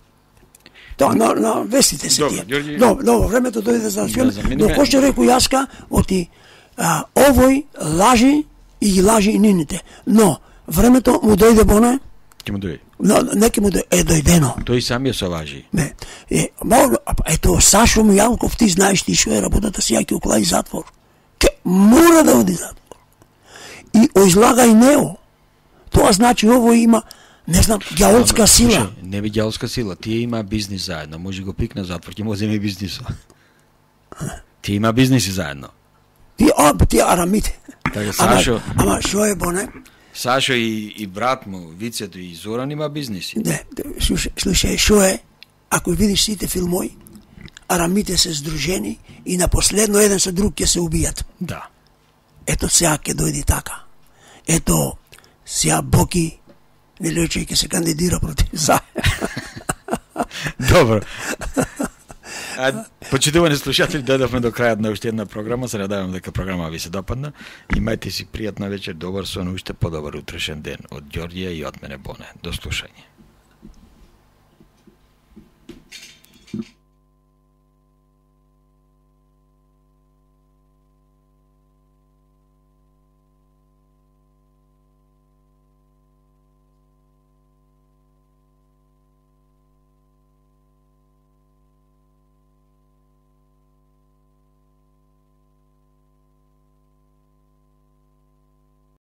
Тоа на вестите се тие. Добро, времето дојде за национално. Но кој што рекол јаска, оти овој лажи и ги лажи и нините. Но времето му дојде боне. Ќе му дојде. Но неки му дојдено. Тој сам ја се лажи. Ето Сашо Мијалков, ти знаеш ти што е работата си, ја ќе уклаи затвор. Мора да оди затвор. И излага и него. Тоа значи ово има, не знам, ѓаолска сила. Слушай, не би ѓаолска сила, тие има бизнис заедно, може го пикне затвор, ќе му земе бизнисот. Тие има бизниси заедно. Тие арамите. Така Сашо. Ама што е боне? Сашо и брат му, Вицето и Зоран има бизниси. Не, слушај, што е? Ако видиш сите филмови, арамите се сдружени и на последно еден со друг ќе се убијат. Да. Ето сега ќе дојде така. Ето сега Боки не рече ќе се кандидира против Заев. Добро. Почитувани слушатели, дојдовме до крајот на уште една програма. Се надевам дека програма ви се допадна. Имајте си пријатна вечер, добар сон, уште подобар утрешен ден. Од Ѓорѓија и од мене Боне. До слушање.